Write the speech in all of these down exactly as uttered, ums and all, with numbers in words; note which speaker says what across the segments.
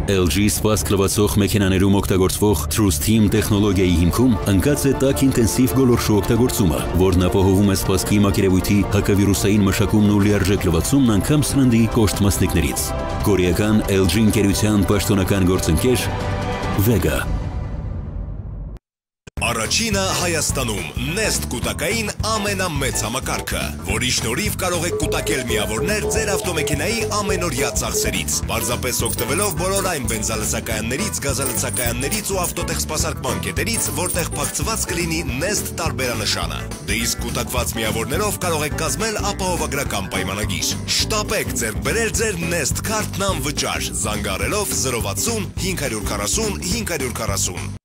Speaker 1: L G սպասք լվացող մեքենաներում օգտագործվող TrueSteam տեխնոլոգիայի հիմքում ընկած է տաք ինտենսիվ գոլորշու օգտագործումը, որն ապահովում է սպասքի մակերևույթի հակավիրուսային մշակումն ու լիարժեք լվացումն անգամ սննդի կոշտ մասնիկներից։ Կորեական L G ընկերության պաշտոնական գործընկեր Vega։
Speaker 2: Առաջինը Հայաստանում Nest կուտակային ամենամեծ համակարգը, որի շնորհիվ կարող եք կուտակել միավորներ ձեր ավտոմեքենայի ամենօրյա ծախսերից, պարզապես օգտվելով բոլոր այն բենզալցակայաններից, գազալցակայաններից ու ավտոտեխ սպասարկման կետերից, որտեղ փակցված կլինի Nest տարբերանշանը։ Դե իսկ կուտակված միավորներով կարող եք կազմել ապահովագրական պայմանագիր։ Շտապեք ձեռք բերել ձեր Nest քարտն անվճար, զանգահարելով զրո վաթսուն հինգ քառասուն հինգ քառասուն։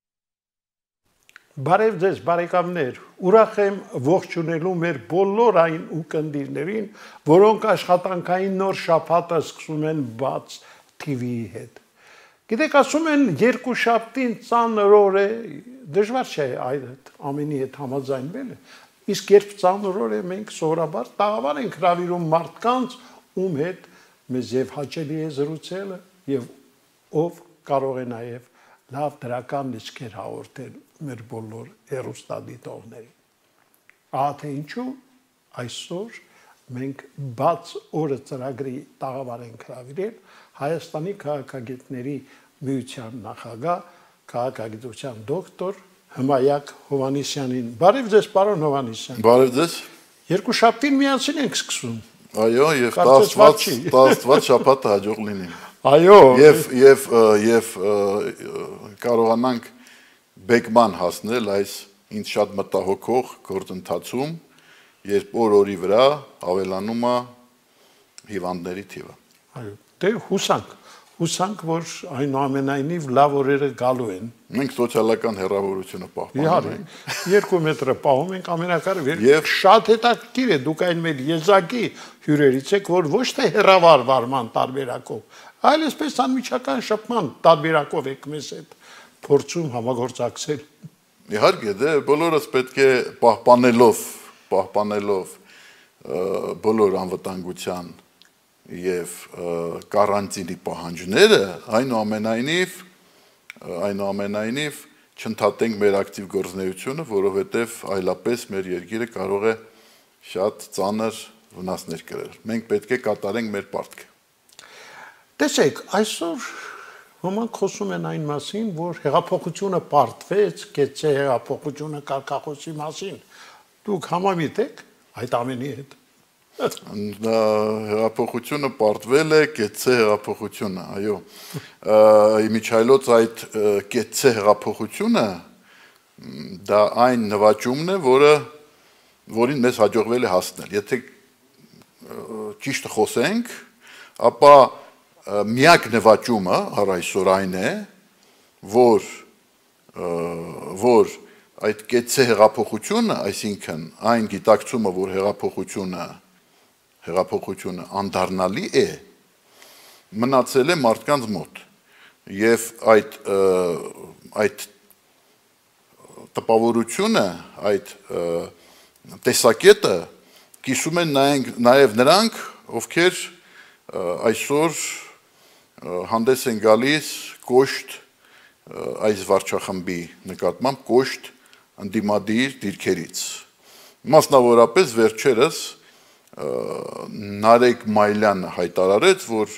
Speaker 3: Բարև ձեզ բարեկամներ, ուրախ եմ ողջունելու մեր բոլոր այն ուղդիրներին, որոնք աշխատանքային նոր շաբաթը սկսում են բաց T V-ի հետ։ Գիտեք, ասում են երկուշաբթին ծանր օր է, դժվար չէ այդ ամենի հետ համաձայնվելը, իսկ երբ ծանր օր է, մենք սովորաբար տաղավար ենք հրավիրում մարդկանց, ում հետ մեզ եւ հաճելի է զրուցելը եւ ով կարող է նաեւ լավ դրական լիցքեր հաղորդել մեր բոլոր հեռուստադիտողներին։ Ահա թե ինչու այսօր մենք բաց օրը ծրագրի տաղավար ենք հրավիրել Հայաստանի քաղաքագետների միության նախագահ, քաղաքագիտության դոկտոր Հմայակ Հովհաննիսյանին։ Բարև ձեզ, պարոն Հովհաննիսյան։
Speaker 4: Բարև ձեզ։
Speaker 3: Երկուշաբթին միասին ենք սկսում։
Speaker 4: Այո, եւ տասնվաթ շաբաթը հաջող լինի։
Speaker 3: Այո։
Speaker 4: Եվ եւ եւ կարողանանք բեկման հասնել այս ինձ շատ մտահոգող գործընթացում, երբ օր-օրի վրա ավելանում է հիվանդների թիվը։
Speaker 3: Այո, դե հուսանք, հուսանք, որ այնուամենայնիվ լավ օրերը գալու են։
Speaker 4: Մենք սոցիալական հեռավորությունը պահպանում
Speaker 3: Իհարկե,
Speaker 4: ենք։
Speaker 3: երկու մետրը պահում ենք ամենակարևոր։ Եվ շատ հետաքրքիր է, դուք այն մեր եզակի հյուրերից եք, որ ոչ թե հեռավար վարման տարբերակով, այլ այսպես անմիջական շփման տարբերակով եք մեզ հետ փորձում համագործակցել։
Speaker 4: Իհարկե, դե բոլորս պետք է պահպանելով, պահպանելով բոլոր անվտանգության եւ կարանտինի պահանջները, այնուամենայնիվ, այնուամենայնիվ չընդհատենք մեր ակտիվ գործունեությունը, որովհետեւ այլապես մեր երկիրը կարող է շատ ծանր վնասներ կրել։ Մենք պետք է կատարենք մեր պարտքը։
Speaker 3: Տեսեք, այսօր ոմանք խոսում են այն մասին, որ հեղափոխությունը պարտվեց, կեցե հեղափոխությունը կարգախոսի մասին։ Դուք համամիտ եք այդ ամենի հետ։
Speaker 4: Հեղափոխությունը պարտվել է, կեցե հեղափոխությունը, այո։ Իմիջայլոց այդ կեցե հեղափոխությունը դա այն նվաճումն է, որը որին մեզ հաջողվել է հասնել։ Եթե ճիշտ խոսենք, ապա միակ նվաճումը առայսօր այն է, որ որ այդ կեցե հեղափոխությունը, այսինքն այն գիտակցումը, որ հեղափոխությունը հեղափոխությունը անդառնալի է, մնացել է մարդկանց մոտ եւ այդ այդ տպավորությունը, այդ տեսակետը կիսում են նաեւ նրանք, ովքեր այսօր հանդես են գալիս կոշտ այս վարչախմբի նկատմամբ կոշտ ընդդիմադիր դիրքերից։ Մասնավորապես վերջերս Նարեկ Մայլյանը հայտարարեց, որ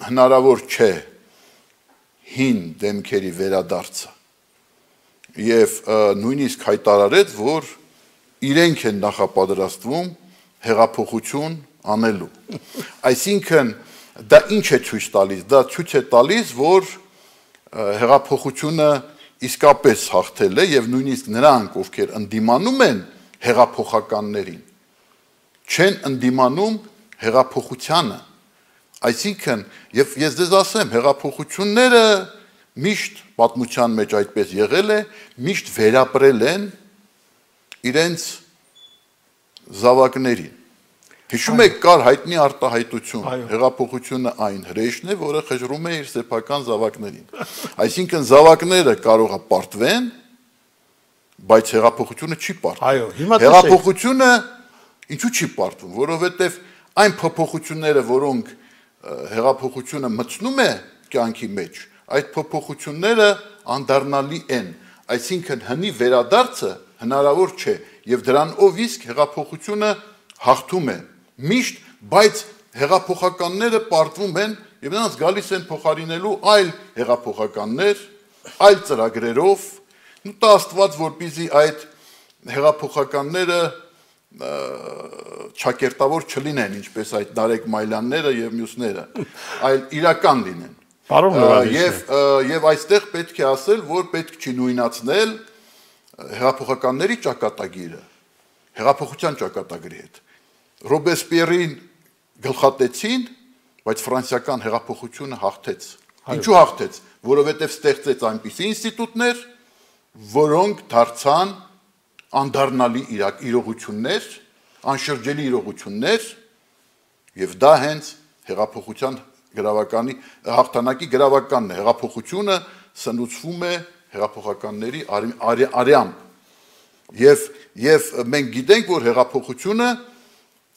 Speaker 4: հնարավոր չէ հին դեմքերի վերադարձը եւ նույնիսկ հայտարարեց, որ իրենք են նախապատրաստվում հեղափոխություն անելու։ Այսինքն դա ինչ է ցույց տալիս, դա ցույց է տալիս, որ հեղափոխությունը իսկապես հաղթել է եւ նույնիսկ նրանք, ովքեր ընդդիմանում են հեղափոխականներին, չեն ընդդիմանում հեղափոխությանը։ Այսինքն, եւ ես դες ասեմ, հեղափոխությունները միշտ պատմության մեջ այդպես եղել է, միշտ վերապրել են իրենց զավակներին։ Հիշում եք, կար հայտնի արտահայտություն, հեղափոխությունը այն հրեշն է, որը խժռում է իր սեփական զավակներին։ Այսինքն զավակները կարող է պարտվեն, բայց հեղափոխությունը չի պարտվում։ Հեղափոխությունը ինչու չի պարտվում, որովհետև այն փոփոխությունները, որոնք հեղափոխությունը մտցնում է կյանքի մեջ, այդ փոփոխությունները անդառնալի են, այսինքն հնի վերադարձը հնարավոր չէ եւ դրանով իսկ հեղափոխությունը հաղթում է միշտ, բայց հեղափոխականները պարտվում են եւ նրանց գալիս են փոխարինելու այլ հեղափոխականներ, այլ ծրագրերով, ու տա Աստված, որպեսզի այդ հեղափոխականները չակերտավոր չլինեն, ինչպես այդ Նարեկ Մայլյանները եւ մյուսները, այլ իրական լինեն։ Եվ եւ այստեղ պետք է ասել, որ պետք չի նույնացնել հեղափոխականների ճակատագիրը հեղափոխության ճակատագրի հետ։ Ռոբեսպիերին գլխատեցին, բայց ֆրանսիական հեղափոխությունը հաղթեց։ Ինչու հաղթեց? Որովհետև ստեղծեց այնպիսի ինստիտուտներ, որոնք դարձան անդառնալի իրողություններ, անշրջելի իրողություններ, եւ դա հենց հեղափոխության գրավականի հաղթանակի գրավականն է։ Հեղափոխությունը սնուցվում է հեղափոխականների արյամբ։ Եվ եւ մենք գիտենք, որ հեղափոխությունը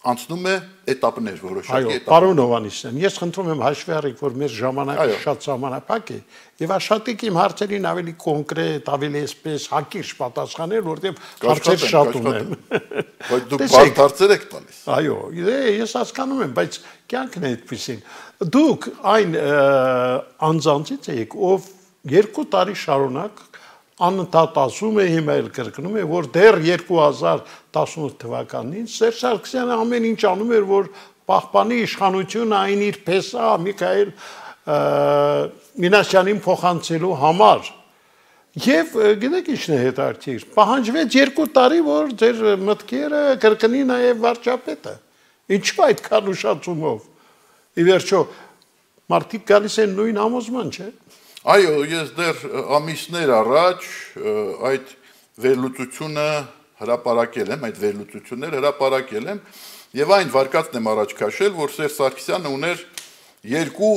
Speaker 4: անցնում է էտապներ, որոշակի էտապներ։
Speaker 3: Այո, պարոն Հովհաննիսյան, ես խնդրում եմ հաշվի առեք, որ մեր ժամանակը շատ սահմանափակ է, եւ աշխատեք իմ հարցերին ավելի կոնկրետ, ավելի այսպես հակիրճ պատասխանել, որտեղ հարցեր շատ ունեմ։
Speaker 4: Բայց դուք բարդ հարցեր եք տալիս։
Speaker 3: Այո, ես հասկանում եմ, բայց կյանքն է այդպեսին։ Դուք այն անձանցից եք, ով երկու տարի շարունակ անընդհատ ասում է, հիմա էլ կրկնում է, որ դեռ երկու հազար տասնութ թվականին Սերժ Սարգսյանը ամեն ինչ անում էր, որ պահպանի իշխանությունը այն իր փեսա Միքայել Մինասյանին փոխանցելու համար։ Եվ գիտեք ինչն է հետաքրքիր, պահանջվեց երկու տարի, որ ձեր մտքերը կրկնի նաև վարչապետը։ Ինչու այդքան ուշացումով։ Ի վերջո մարդիկ գալիս են նույն համոզման, չէ՞։
Speaker 4: Այո, ես դեռ ամիսներ առաջ այդ վերլուծությունը հրապարակել եմ, այդ վերլուծությունները հրապարակել եմ եւ այն վարկածն եմ առաջ քաշել, որ Սերժ Սարգսյանը ուներ երկու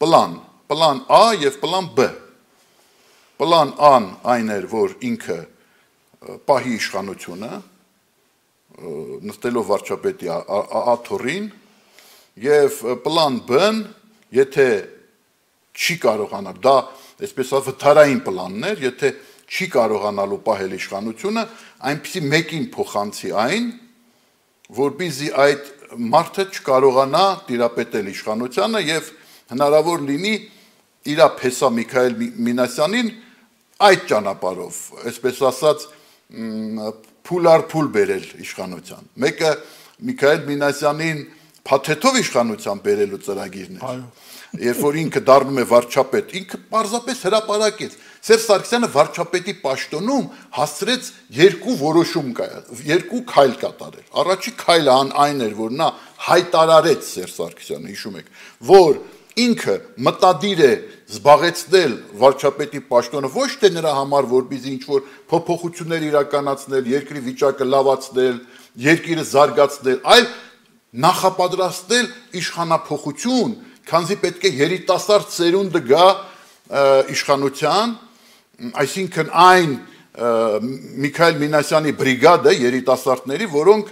Speaker 4: պլան, պլան A եւ պլան B։ Պլան A-ն այն էր, որ ինքը պահի իշխանությունը, նստելով վարչապետի աթոռին, եւ պլան B-ն, եթե չի կարողանալ, դա այսպես վթարային պլանն էր, եթե չի կարողանալու պահել իշխանությունը, այնպիսի մեկին փոխանցի այն, որպեսզի այդ մարդը չկարողանա տիրապետել իշխանությանը եւ հնարավոր լինի իր փեսա Միքայել Մինասյանին այդ ճանապարհով, այսպես ասած, փուլ առ փուլ բերել իշխանության։ Մեկը Միքայել Մինասյանին փաթեթով իշխանության բերելու ծրագիրն էր։ Երբ որ ինքը դառնում է վարչապետ, ինքը պարզապես հրապարակեց։ Սերժ Սարգսյանը վարչապետի պաշտոնում հասցրեց երկու որոշում կայացնել, երկու քայլ կատարել։ Առաջի քայլը այն էր, որ նա հայտարարեց Սերժ Սարգսյանը, հիշում եք, որ ինքը մտադիր է զբաղեցնել վարչապետի պաշտոնը ոչ թե նրա համար, որպեսզի ինչ-որ փոփոխություններ իրականացնել, երկրի վիճակը լավացնել, երկիրը զարգացնել, այլ նախապատրաստել իշխանափոխություն, քանզի պետք է երիտասարդ սերունդը գա իշխանության, այսինքն այն Միքայել Մինասյանի բրիգադը երիտասարդների, որոնք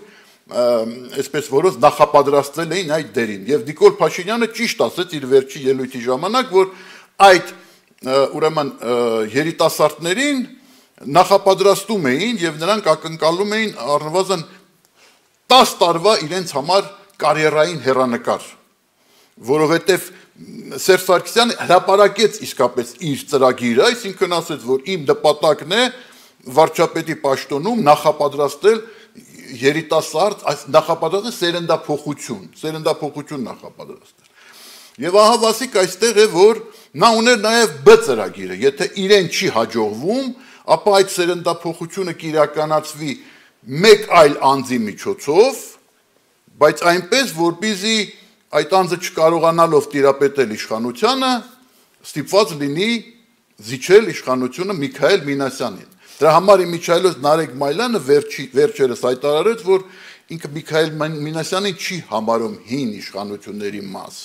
Speaker 4: այսպես որոնց նախապատրաստել էին այդ դերին։ Եվ Նիկոլ Փաշինյանը ճիշտ ասեց իր վերջի ելույթի ժամանակ, որ այդ ուրեմն երիտասարդներին նախապատրաստում էին եւ նրանք ակնկալում էին առնվազն տասը տարվա իրենց համար կարիերային հեռանկար, որովհետև Սերժ Սարգսյանը հրապարակեց իսկապես իր ծրագիրը, այսինքն ասեց, որ իմ նպատակն է վարչապետի պաշտոնում նախապատրաստել երիտասարդ, նախապատրաստել սերնդափոխություն, սերնդափոխություն նախապատրաստել։ Եվ ահա Վասիկ այստեղ է, որ նա ուներ նաև B ծրագիրը, եթե իրեն չի հաջողվում, ապա այդ սերնդափոխությունը կիրականացվի մեկ այլ անձի միջոցով, բայց այնպես, որպեսզի այդ անձը չկարողանալով տիրապետել իշխանությանը, ստիպված լինի զիջել իշխանությունը Միքայել Մինասյանին։ Դրա համար իմիջայլոց Նարեկ Մայլյանը վերջերս հայտարարեց, որ ինքը Միքայել Մինասյանին չի համարում հին իշխանությունների մաս։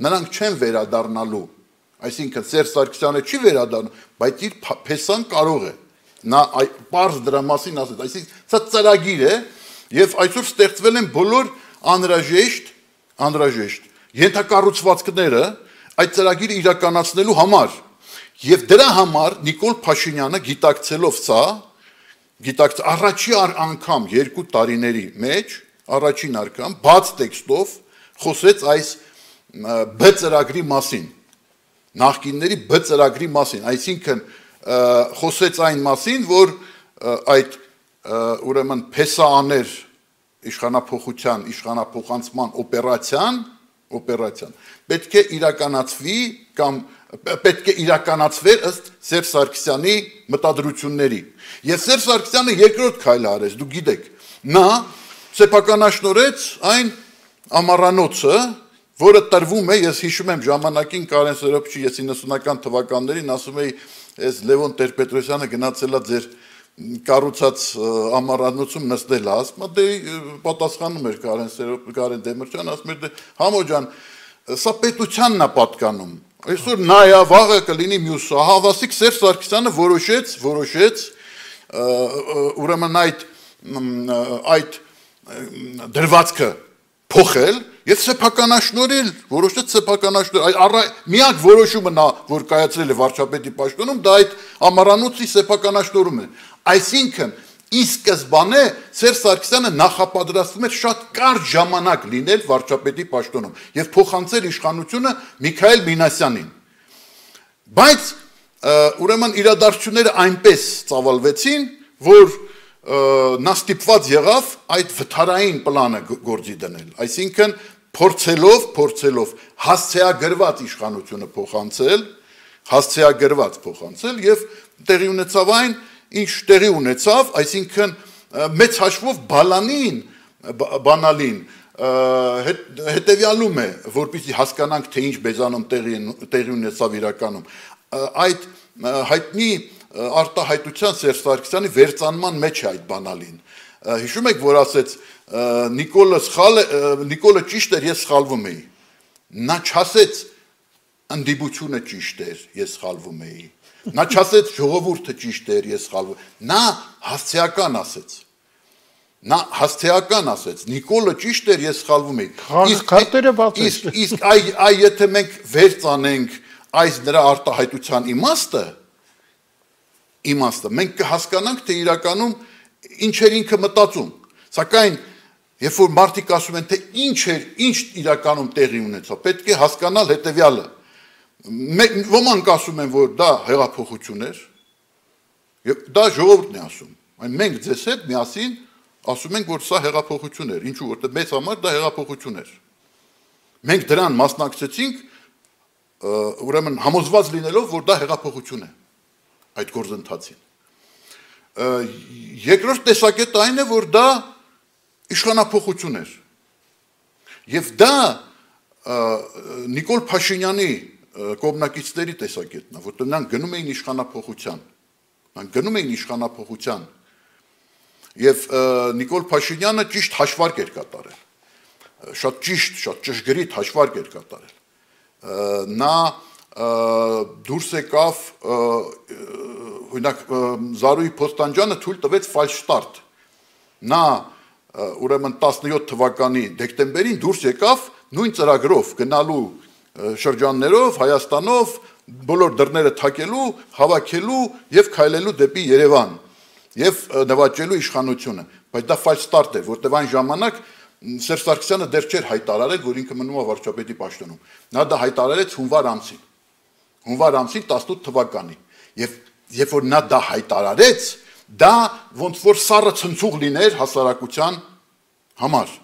Speaker 4: Նրանք չեն վերադառնալու, այսինքն Սերժ Սարգսյանը չի վերադառնում, բայց իր փեսան կարող է։ Նա պարզ դրա մասին ասեց, այսինքն սա ծրագիր է, եւ այսօր ստեղծվել են բոլոր անհրաժեշտ անհրաժեշտ ենթակառուցվածքները այդ ծրագիրը իրականացնելու համար եւ դրա համար Նիկոլ Փաշինյանը գիտակցելով սա գիտակց առաջի անգամ երկու տարիների մեջ առաջին անգամ բաց տեքստով խոսեց այս B ծրագրի մասին նախկինների B ծրագրի մասին այսինքն խոսեց այն մասին որ այդ ուրեմն փեսաաներ իշխանափոխության իշխանափոխանցման օպերացիան օպերացիան պետք է իրականացվի կամ պետք է իրականացվեր ըստ Սերժ Սարգսյանի մտադրությունների եւ Սերժ Սարգսյանը երկրորդ քայլը արեց դուք գիտեք նա սեփականաշնորհեց այն ամառանոցը որը տրվում է ես հիշում եմ ժամանակին Կարեն Սերոբչի ես իննսունական թվականներին ասում էի այս Լևոն Տեր-Պետրոսյանը գնացել է ձեր կառուցած ամառանոցում նստել ասում է դե պատասխանում էր Կարեն Սերոբ Կարեն Դեմիրճյանը ասում էր դե համո ջան սա պետությանն է պատկանում այսօր նայա վաղը կլինի մյուսը հավասիկ Սերժ Սարգսյանը որոշեց որոշեց ուրեմն այդ այդ դրվածքը փոխել եւ սեփականաշնորհել որոշեց սեփականաշնորհ միակ որոշումը նա որ կայացրել է վարչապետի պաշտոնում դա այդ ամառանոցի սեփականաշնորհում է այսինքն ի սկզբանե Սերժ Սարգսյանը նախապատրաստվում էր շատ կարճ ժամանակ լինել վարչապետի պաշտոնում եւ փոխանցել իշխանությունը Միքայել Մինասյանին բայց ուրեմն իրադարձությունները այնպես ծավալվեցին որ նա ստիպված եղավ այդ վթարային պլանը գործի դնել այսինքն փորձելով փորձելով հասցեագրված իշխանությունը փոխանցել հասցեագրված փոխանցել եւ տեղի ունեցավ այն ինչ տեղի ունեցավ այսինքն մեծ հաշվով բալանին բանալին հետեւյալում է որպեսզի հասկանանք թե ինչ բեզանում տեղի տեղի ունեցավ իրականում այդ հայտնի արտահայտության Սերժ Սարգսյանի վերծանման մեջ է այդ բանալին հիշում եք որ ասեց Նիկոլը սխալ Նիկոլը ճիշտ էր ես սխալվում էի նա չասեց ընդդիմությունը ճիշտ էր ես սխալվում էի նա չասեց ժողովուրդը ճիշտ էր ես սխալվում նա հասցեական ասեց նա հասցեական ասեց Նիկոլը ճիշտ էր ես սխալվում էի
Speaker 3: իսկ քարտերը բաց են
Speaker 4: իսկ իսկ այ այ եթե մենք վերծանենք այս նրա արտահայտության իմաստը իմաստը մենք կհասկանանք թե իրականում ինչ էր ինքը մտածում սակայն երբ որ մարդիկ ասում են թե ինչ էր ինչ իրականում տեղի ունեցավ պետք է հասկանալ հետեւյալը ոմանք ասում են որ դա հեղափոխություն էր եւ դա ժողովուրդն է ասում այն մենք ձեզ հետ միասին ասում ենք որ սա հեղափոխություն էր ինչու որտեղ մեծ համար դա հեղափոխություն էր մենք դրան մասնակցեցինք ուրեմն համոզված լինելով որ դա հեղափոխություն է այդ գործընթացին երկրորդ տեսակետը այն է որ դա իշխանափոխություն էր եւ դա Նիկոլ Փաշինյանի կողմնակիցների տեսակետն է որտեղ նրանք գնում էին իշխանափոխության նրանք գնում էին իշխանափոխության եւ Նիկոլ Փաշինյանը ճիշտ հաշվարկ էր կատարել շատ ճիշտ շատ ճշգրիտ հաշվարկ էր կատարել նա դուրս եկավ օրինակ Զարուհի Փոստանջյանը թույլ տվեց ֆալշտարտ նա ուրեմն տասնյոթ թվականի դեկտեմբերին դուրս եկավ նույն ծրագրով գնալու շրջաններով Հայաստանով բոլոր դռները թակելու հավաքելու եւ քայլելու դեպի Երևան եւ նվաճելու իշխանությունը բայց դա ֆալշտարտ էր որտեղ այն ժամանակ Սերժ Սարգսյանը դեռ չէր հայտարարել որ ինքը մնում է վարչապետի պաշտոնում նա դա հայտարարեց հունվար ամսին հունվար ամսին տասնութ թվականի եւ երբ որ նա դա հայտարարեց դա ոնց որ սառը ցնցուղ լիներ հասարակության համար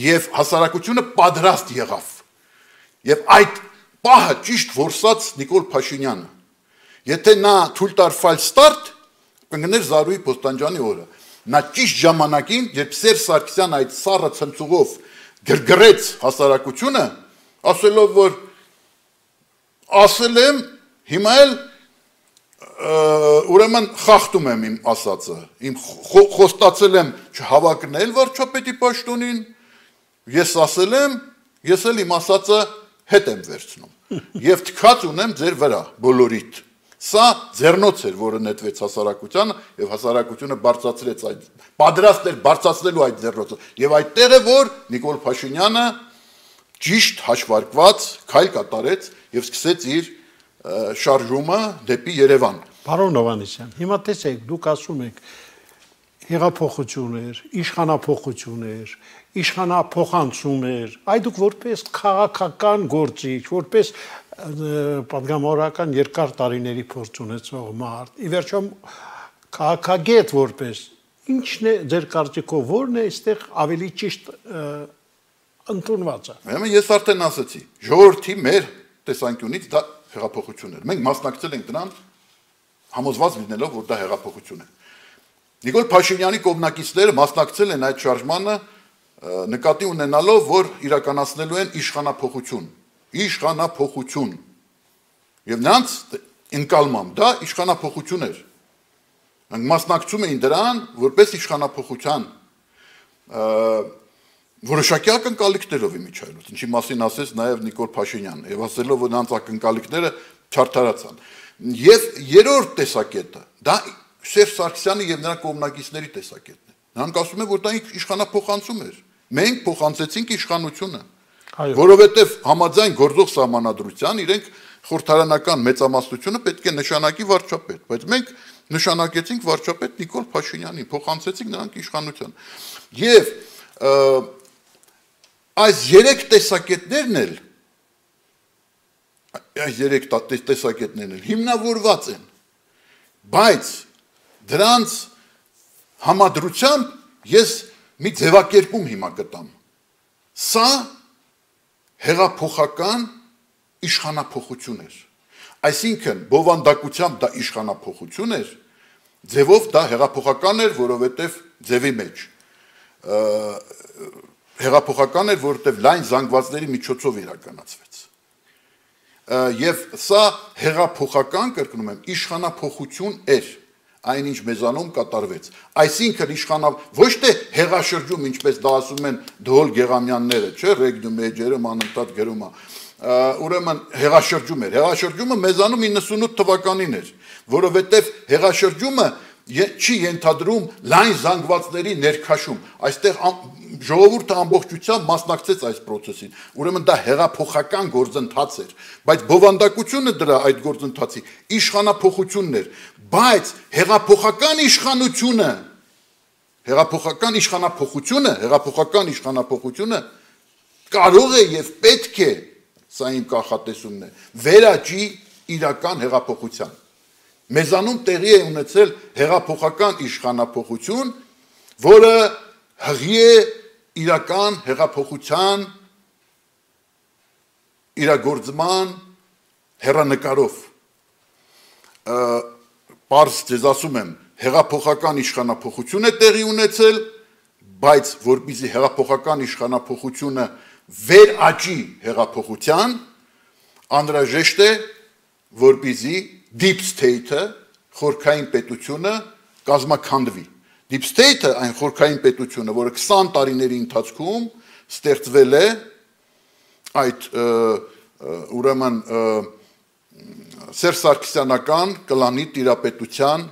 Speaker 4: եւ հասարակությունը պատրաստ եղավ եւ այդ պահը ճիշտ որսած Նիկոլ Փաշինյանը եթե նա թույլ տար ֆալշտարտ կգներ Զարուհի Փոստանջյանի օրը նա ճիշտ ժամանակին երբ Սերժ Սարգսյանը այդ սառը ցնցուղով գրգռեց հասարակությունը ասելով որ ասել եմ հիմա էլ ուրեմն խախտում եմ իմ ասածը իմ խոստացել եմ չհավակնել վարչապետի պաշտոնին ես ասել եմ ես էլ իմ ասածը հետ եմ վերցնում եւ թքած ունեմ ձեր վրա բոլորիդ սա ձեռնոց էր որը նետվեց հասարակությանը եւ հասարակությունը բարձրացրեց այդ պատրաստ էր բարձրացնելու այդ ձեռնոցը եւ այդտեղ է որ Նիկոլ Փաշինյանը ճիշտ հաշվարկված քայլ կատարեց եւ սկսեց իր շարժումը դեպի Երևան։
Speaker 3: Պարոն Հովհաննիսյան, հիմա տեսեք, դուք ասում եք հեղափոխություններ, իշխանափոխություններ, իշխանափոխանցումներ, այ դուք որպես քաղաքական գործիչ, որպես պատգամավորական երկար տարիների փորձ ունեցող մարդ, ի վերջո քաղաքագետ որպես, ինչն է ձեր կարծիքով, որն է այստեղ ավելի ճիշտ ընդունվածը։
Speaker 4: Ուրեմն ես արդեն ասացի, ժողովրդի մեր տեսանկյունից դա հեղափոխություն էր։ Մենք մասնակցել ենք դրան համոզված լինելով, որ դա հեղափոխություն է։ Նիկոլ Փաշինյանի կողմնակիցները մասնակցել են այդ շարժմանը նկատի ունենալով, որ իրականացնելու են իշխանափոխություն, իշխանափոխություն։ Եվ նրանց ընկալմամբ դա իշխանափոխություն էր։ Նրանք մասնակցում էին դրան որպես իշխանափոխության որոշակի ակնկալիքներով իմիջայլոց, ինչի մասին ասեց նաև Նիկոլ Փաշինյանը, եւ ասելով, որ նրանց ակնկալիքները չարդարացան։ Եվ երրորդ տեսակետը դա Սերժ Սարգսյանի եւ նրա կողմնակիցների տեսակետն է։ Նրանք ասում են, որ դա իշխանափոխանցում էր։ Մենք փոխանցեցինք իշխանությունը, որովհետեւ համաձայն գործող սահմանադրության իրենք խորհրդարանական մեծամասնությունը պետք է նշանակի վարչապետ, բայց մենք նշանակեցինք վարչապետ Նիկոլ Փաշինյանին, փոխանցեցինք նրանք իշխանության։ Եվ այս երեք տեսակետներն էլ այս երեք տեսակետներն էլ հիմնավորված են, բայց դրանց համադրությամբ ես մի ձևակերպում հիմա գտամ։ Սա հեղափոխական իշխանափոխություն էր։ Այսինքն բովանդակությամբ դա իշխանափոխություն էր, ձևով դա հեղափոխական էր, որովհետև ձևի մեջ հեղափոխական էր, որովհետև լայն զանգվածների միջոցով իրականացվեց։ Եվ սա հեղափոխական, կրկնում եմ, իշխանափոխություն էր, այնինչ մեզանում կատարվեց։ Այսինքն իշխանա ոչ թե հեղաշրջում, ինչպես դա ասում են Դոհոլ Գեղամյանները, չէ, ռեգնում էջերը մանընդհատ գրում է։ Ուրեմն հեղաշրջում էր։ Հեղաշրջումը մեզանում իննսունութ թվականին էր, որովհետև հեղաշրջումը չի ենթադրում լայն զանգվածների ներքաշում։ Այստեղ ժողովուրդը ամբողջությամբ մասնակցեց այս process-ին։ Ուրեմն դա հեղափոխական գործընթաց էր, բայց բովանդակությունը դրա այդ գործընթացի իշխանափոխությունն էր, բայց հեղափոխական իշխանությունը, հեղափոխական իշխանափոխությունը, հեղափոխական իշխանափոխությունը կարող է եւ պետք է, սա իմ կանխատեսումն է, վերաճի իրական հեղափոխության։ Մեզանում տեղի է ունեցել հեղափոխական իշխանափոխություն, որը հղի է իրական հեղափոխության իրագործման հեռանկարով։ Պարզ ձեզ ասում եմ, հեղափոխական իշխանափոխություն է տեղի ունեցել, բայց որպեսզի հեղափոխական իշխանափոխությունը վերաճի հեղափոխության, անհրաժեշտ է, որպեսզի deep state-ը, խորքային պետությունը կազմաքանդվի։ Deep state-ը, այն խորքային պետությունը, որը քսան տարիների ընթացքում ստեղծվել է, այդ ուրեմն Սերժ Սարգսյանական կլանի տիրապետության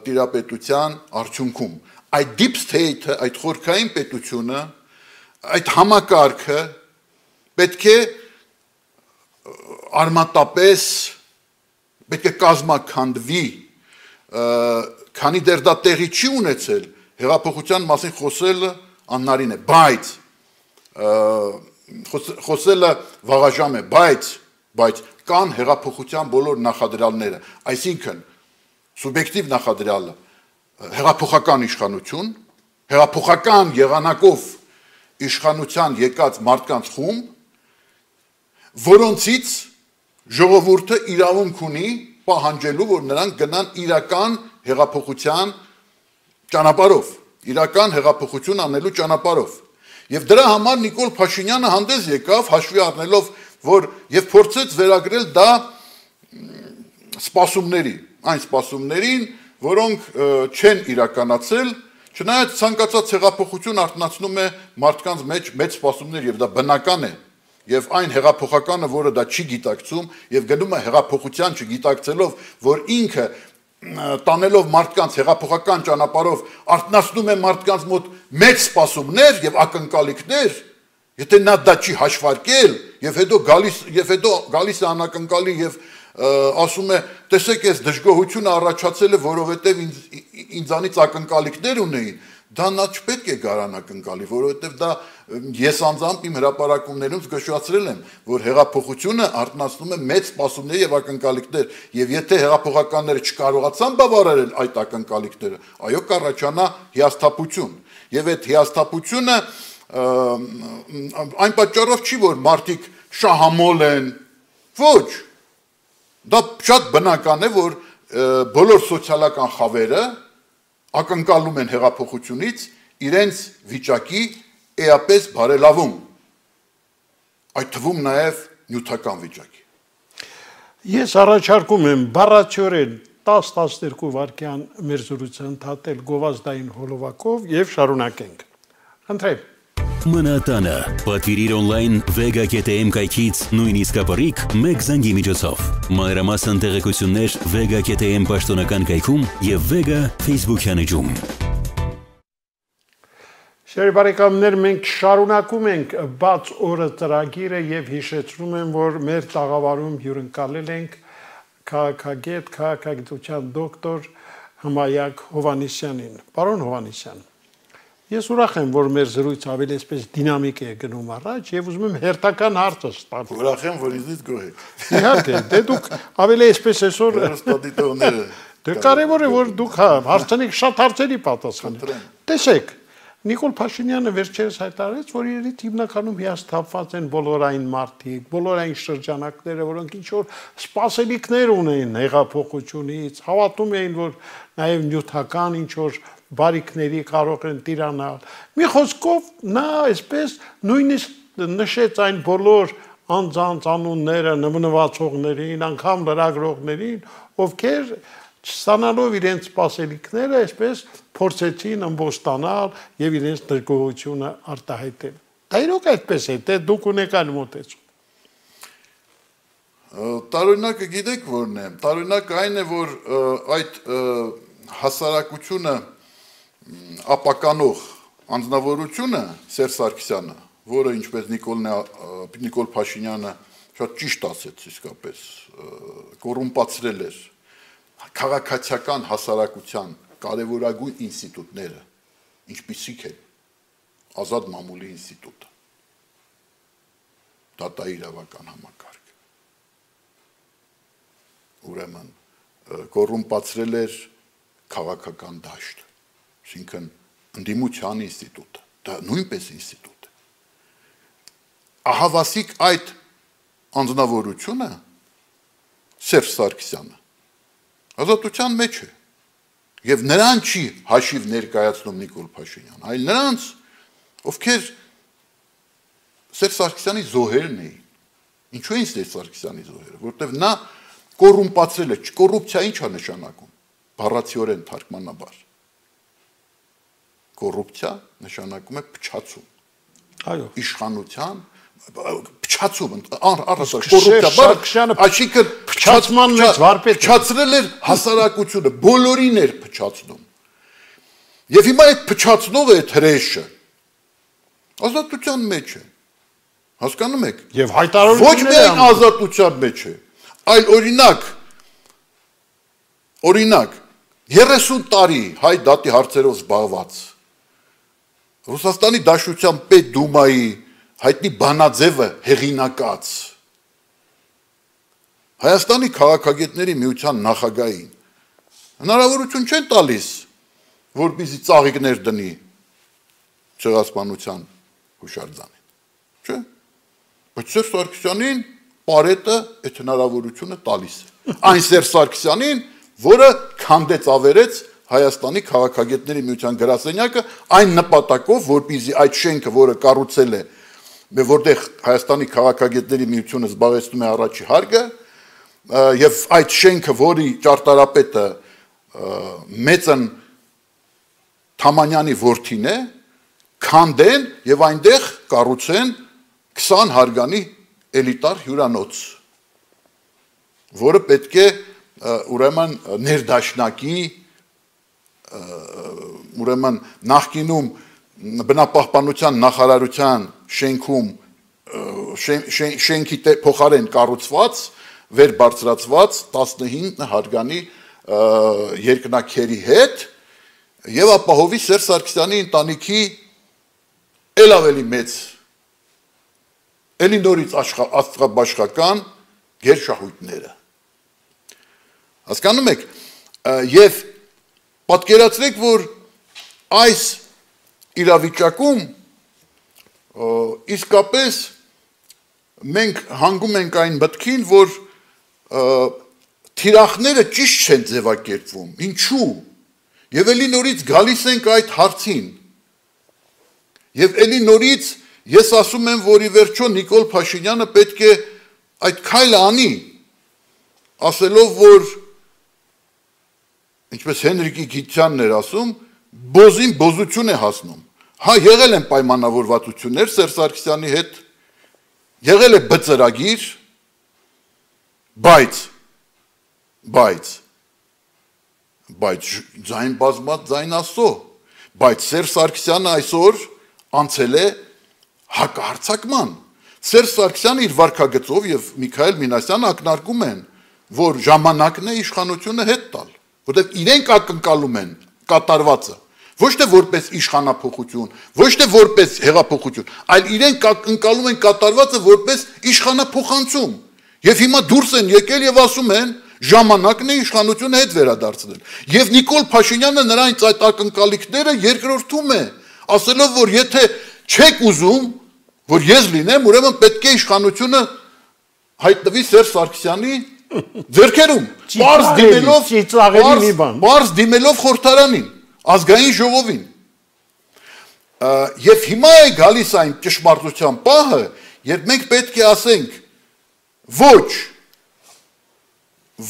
Speaker 4: տիրապետության արդյունքում։ Այդ deep state-ը, այդ խորքային պետությունը, այդ համակարգը պետք է արմատապես պետք է կազմաքանդվի, քանի դեռ դա տեղի չի ունեցել, հեղափոխության մասին խոսելը աննարին է, բայց խոսելը վաղաժամ է, բայց բայց կան հեղափոխության բոլոր նախադրյալները, այսինքն սուբյեկտիվ նախադրյալը հեղափոխական իշխանություն, հեղափոխական եղանակով իշխանության եկած մարդկանց խումբ, որոնցից ժողովուրդը իրավունք ունի պահանջելու, որ նրանք գնան իրական հեղափոխության ճանապարհով, իրական հեղափոխություն անելու ճանապարհով։ Եվ դրա համար Նիկոլ Փաշինյանը հանդես եկավ, հաշվի առնելով, որ եւ փորձեց վերագրել դա սպասումների, այն սպասումներին, որոնք չեն իրականացել, չնայած ցանկացած հեղափոխություն արտնացնում է մարդկանց մեջ մեծ սպասումներ եւ դա բնական է։ Եվ այն հեղափոխականը, որը դա չի գիտակցում եւ գնում է հեղափոխության չգիտակցելով, որ ինքը տանելով մարդկանց հեղափոխական ճանապարհով արտնացնում է մարդկանց մոտ մեծ սպասումներ եւ ակնկալիքներ, Եթե նա դա չի հաշվարկել, եւ հետո գալիս եւ հետո գալիս է անակնկալի եւ ասում է, տեսեք, այս դժգոհությունը առաջացել է, որովհետեւ ինձ ինձանից ակնկալիքներ ունեին, դա նա չպետք է գարանա ակնկալի, որովհետեւ դա ես անձամբ իմ հրապարակումներում զգուշացրել եմ, որ հեղափոխությունը արտնասնում է մեծ սպասումներ եւ ակնկալիքներ, եւ եթե հեղափոխականները չկարողացան բավարարել այդ ակնկալիքները, այո, կառաջանա հիասթափություն, եւ այդ հիասթափությունը այն պատճառով չի, որ մարդիկ շահամոլ են, ոչ, դա շատ բնական է, որ բոլոր սոցիալական խավերը ակնկալում են հեղափոխությունից իրենց վիճակի էապես բարելավում, այդ թվում նաև նյութական վիճակի։
Speaker 3: Ես առաջարկում եմ բառացիորեն տաս տասներկու վայրկյան մեր զրույցը ընդհատել գովազդային հոլովակով եւ շարունակենք։ Խնդրեմ։
Speaker 1: Մնատանը պատվիրիր օնլայն vega.am կայքից նույնիսկ ապարիկ մեկ զանգի միջոցով։ Մանրամասն տեղեկություններ vega.am պաշտոնական կայքում եւ Vega Facebook-յան էջում։
Speaker 3: Շերի բարեկամներ, մենք շարունակում ենք բաց օրը ծրագիրը եւ հիշեցնում եմ, որ մեր տաղավարում հյուրընկալել ենք քաղաքագետ, քաղաքագիտության դոկտոր Հմայակ Հովհաննիսյանին։ Պարոն Հովհաննիսյան, ես ուրախ եմ, որ մեր զրույցը ավելի այսպես դինամիկ է գնում առաջ եւ ուզում եմ հերթական հարցը ստանալ։
Speaker 4: Ուրախ եմ, որ ինձից գոհ եք։
Speaker 3: Իհարկե, դե դուք ավելի այսպես այսօր
Speaker 4: հերոստատիտողները։
Speaker 3: Դե կարևոր է, որ դուք հարցնեք շատ հարցերի պատասխանեք։ Տեսեք, Նիկոլ Փաշինյանը վերջերս հայտարարեց, որ իրենից հիմնականում հիասթափված են բոլորային մարդիկ, բոլորային շրջանակները, որոնք ինչ որ սպասելիքներ ունեն հեղափոխությունից, հավատում էին, որ նաև նյութական ինչ որ բարիքների կարող են տիրանալ։ Մի խոսքով նա այսպես նույնիսկ նշեց այն բոլոր անձանց անունները նվնվացողներին, անգամ լրագրողներին, ովքեր չստանալով իրենց սպասելիքները, այսպես փորձեցին ըմբոստանալ եւ իրենց դժգոհությունը արտահայտել։ Դա իրոք այդպես է, թե դուք ունեք այլ մոտեցում։
Speaker 4: Տարօրինակը գիտեք որն է։ Տարօրինակը այն է, որ այդ հասարակությունը ապականող անձնավորությունը Սերժ Սարգսյանը, որը ինչպես Նիկոլն Նիկոլ Փաշինյանը շատ ճիշտ ասեց իսկապես, կոռումպացրել էր քաղաքացիական հասարակության կարևորագույն ինստիտուտները, ինչպիսիք են ազատ մամուլի ինստիտուտը, դատաիրավական համակարգը, ուրեմն կոռումպացրել էր քաղաքական դաշտը, այսինքն ընդդիմության ինստիտուտը, դա նույնպես ինստիտուտ է։ Ահավասիկ այդ անձնավորությունը Սերժ Սարգսյանը ազատության մեջ է եւ նրան չի հաշիվ ներկայացնում Նիկոլ Փաշինյան, այլ նրանց, ովքեր Սերժ Սարգսյանի զոհերն էին։ Ինչու են Սերժ Սարգսյանի զոհերը, որովհետեւ նա կոռումպացրել է, կոռուպցիա ինչ է նշանակում, բառացիորեն թարգմանաբար։ Կոռուպցիա նշանակում է փչացում։ Այո, իշխանության փչացում, առասար կոռուպցիա, այսինքն
Speaker 3: փչացման մեջ վարպետ
Speaker 4: փչացրել էր հասարակությունը, բոլորին էր փչացնում։ Եվ հիմա այդ փչացնողը այդ հրեշը ազատության մեջ է։ Հասկանում եք։
Speaker 3: Եվ հայտարարությունները
Speaker 4: ոչ միայն ազատության մեջ է, այլ օրինակ օրինակ երեսուն տարի հայ դատի հարցերով զբաղված Ռուսաստանի Դաշնության Պետդումայի հայտնի Բանաձևը հեղինակած Հայաստանի քաղաքագետների միության նախագահին հնարավորություն չեն տալիս, որպեսզի ծաղիկներ դնի ցեղասպանության հուշարձանին, չէ՞։ Բայց Սերժ Սարգսյանին Պարետը այդ հնարավորությունը տալիս է։ Այն Սերժ Սարգսյանին, որը քանդեց ավերեց Հայաստանի քաղաքագետների միության գրասենյակը այն նպատակով, որպեսզի այդ շենքը, որը կառուցել է, որտեղ Հայաստանի քաղաքագետների միությունը զբաղեցնում է առաջի հարկը, եւ այդ շենքը, որի ճարտարապետը Մեծն Թամանյանի որդին է, քանդեն եւ այնտեղ կառուցեն քսան հարգանի էլիտար հյուրանոց, որը պետք է ուրեմն ներդաշնակի ուրեմն նախկինում բնապահպանության նախարարության շենքում շենքի փոխարեն կառուցված, վեր բարձրացված տասնհինգ հարգանի երկնաքերի հետ եւ ապահովի Սերժ Սարգսյանի ընտանիքի ել ավելի մեծ էլի նորից աստղաբաշխական գերշահույթները։ Հասկանում եք, եւ պատկերացրեք, որ այս իրավիճակում իսկապես մենք հանգում ենք այն մտքին, որ թիրախները ճիշտ չեն ձևակերպվում, ինչու, եւ էլի նորից գալիս ենք այդ հարցին, եւ էլի նորից ես ասում եմ, որ ի վերջո Նիկոլ Փաշինյանը պետք է այդ քայլը անի, ասելով, որ ինչպես Հենրիկի Գիթյանն էր ասում, բոզին բոզություն է հասնում, հա եղել են պայմանավորվածություններ Սերժ Սարգսյանի հետ, եղել է բծրագիր, բայց, բայց, բայց ձայն բազմած ձայն Աստծո, բայց Սերժ Սարգսյանը այսօր անցել է հակահարձակման։ Սերժ Սարգսյանը իր վարքագծով եւ Միքայել Մինասյանը ակնարկում են, որ ժամանակն է իշխանությունը հետ տալ, որտեղ իրենք ակնկալում են կատարվածը, ոչ թե որպես իշխանափոխություն, ոչ թե որպես հեղափոխություն, այլ իրենք ակնկալում են կատարվածը որպես իշխանափոխանցում։ Եվ հիմա դուրս են եկել եւ ասում են, ժամանակն է իշխանությունը հետ վերադարձնել։ Եվ Նիկոլ Փաշինյանը նրանց այդ ակնկալիքները երկրորդում է, ասելով, որ եթե չեք ուզում, որ ես լինեմ, ուրեմն պետք է իշխանությունը հայտնվի Սերժ Սարգսյանի ձեռքերում, պարզ դիմելով, պարզ դիմելով խորհրդարանին, ազգային ժողովին։ Եվ հիմա է գալիս այն ճշմարտության պահը, երբ մենք պետք է ասենք ոչ,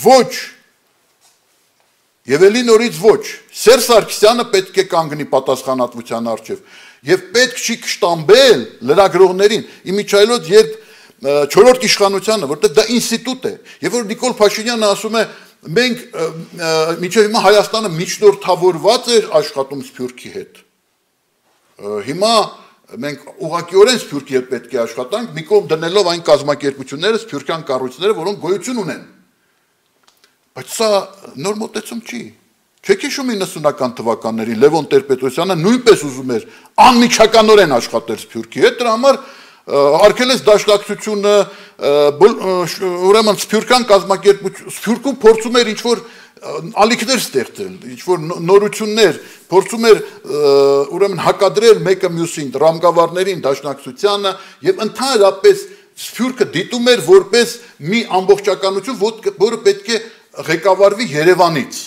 Speaker 4: ոչ, եւ էլի նորից ոչ, Սերժ Սարգսյանը պետք է կանգնի պատասխանատվության առջև եւ պետք չի կշտամբել լրագրողներին, իմիջայլոց երբ չորրորդ իշխանությանը, որտեղ դա ինստիտուտ է, եւ որ Նիկոլ Փաշինյանը ասում է, մենք մինչեւ հիմա Հայաստանը միջնորդավորված էր աշխատում Սփյուռքի հետ։ Հիմա մենք ուղղակիորեն Սփյուռքի հետ պետք է աշխատանք, մի կողմ դնելով այն կազմակերպությունները, սփյուռքյան կառույցները, որոնք գոյություն ունեն։ Բայց սա նոր մոտեցում չի։ Չեք հիշում իննսունական թվականներին Լևոն Տեր-Պետրոսյանը նույնպես ուզում էր անմիջականորեն աշխատել Սփյուռքի հետ, դրա համար արգելեց դաշնակցությունը, ուրեմն Սփյուռքյան կազմակերպություն, Սփյուռքում փորձում էր ինչ-որ ալիքներ ստեղծել, ինչ-որ նորություններ, փորձում էր ուրեմն հակադրել մեկը մյուսին, ռամկավարներին, դաշնակցությանը եւ ընդհանրապես Սփյուռքը դիտում էր որպես մի ամբողջականություն, որը պետք է ղեկավարվի Երևանից։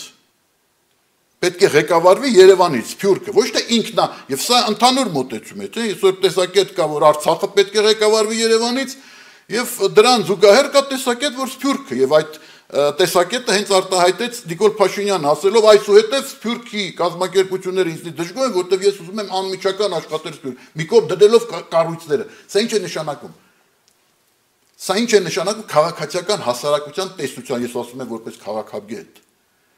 Speaker 4: Պետք է ղեկավարվի Երևանից, Սփյուռքը, ոչ թե ինքնա, եւ սա ընդհանուր մոտեցում է, չէ՞, այսօր տեսակետ կա, որ Արցախը պետք է ղեկավարվի Երևանից, եւ դրան զուգահեռ կա տեսակետ, որ Սփյուռքը, եւ այդ տեսակետը հենց արտահայտեց Նիկոլ Փաշինյանը, ասելով այսուհետև Սփյուռքի կազմակերպությունները ինձնից դժգոհ են, որտեղ ես ուզում եմ անմիջական աշխատել Սփյուռք, մի կողմ դնելով կառույցները։ Սա ինչ է նշանակում։ Սա ինչ է նշանակում քաղաքացիական հասարակության տեսության, ես ասում եմ որպես քաղաքագետ։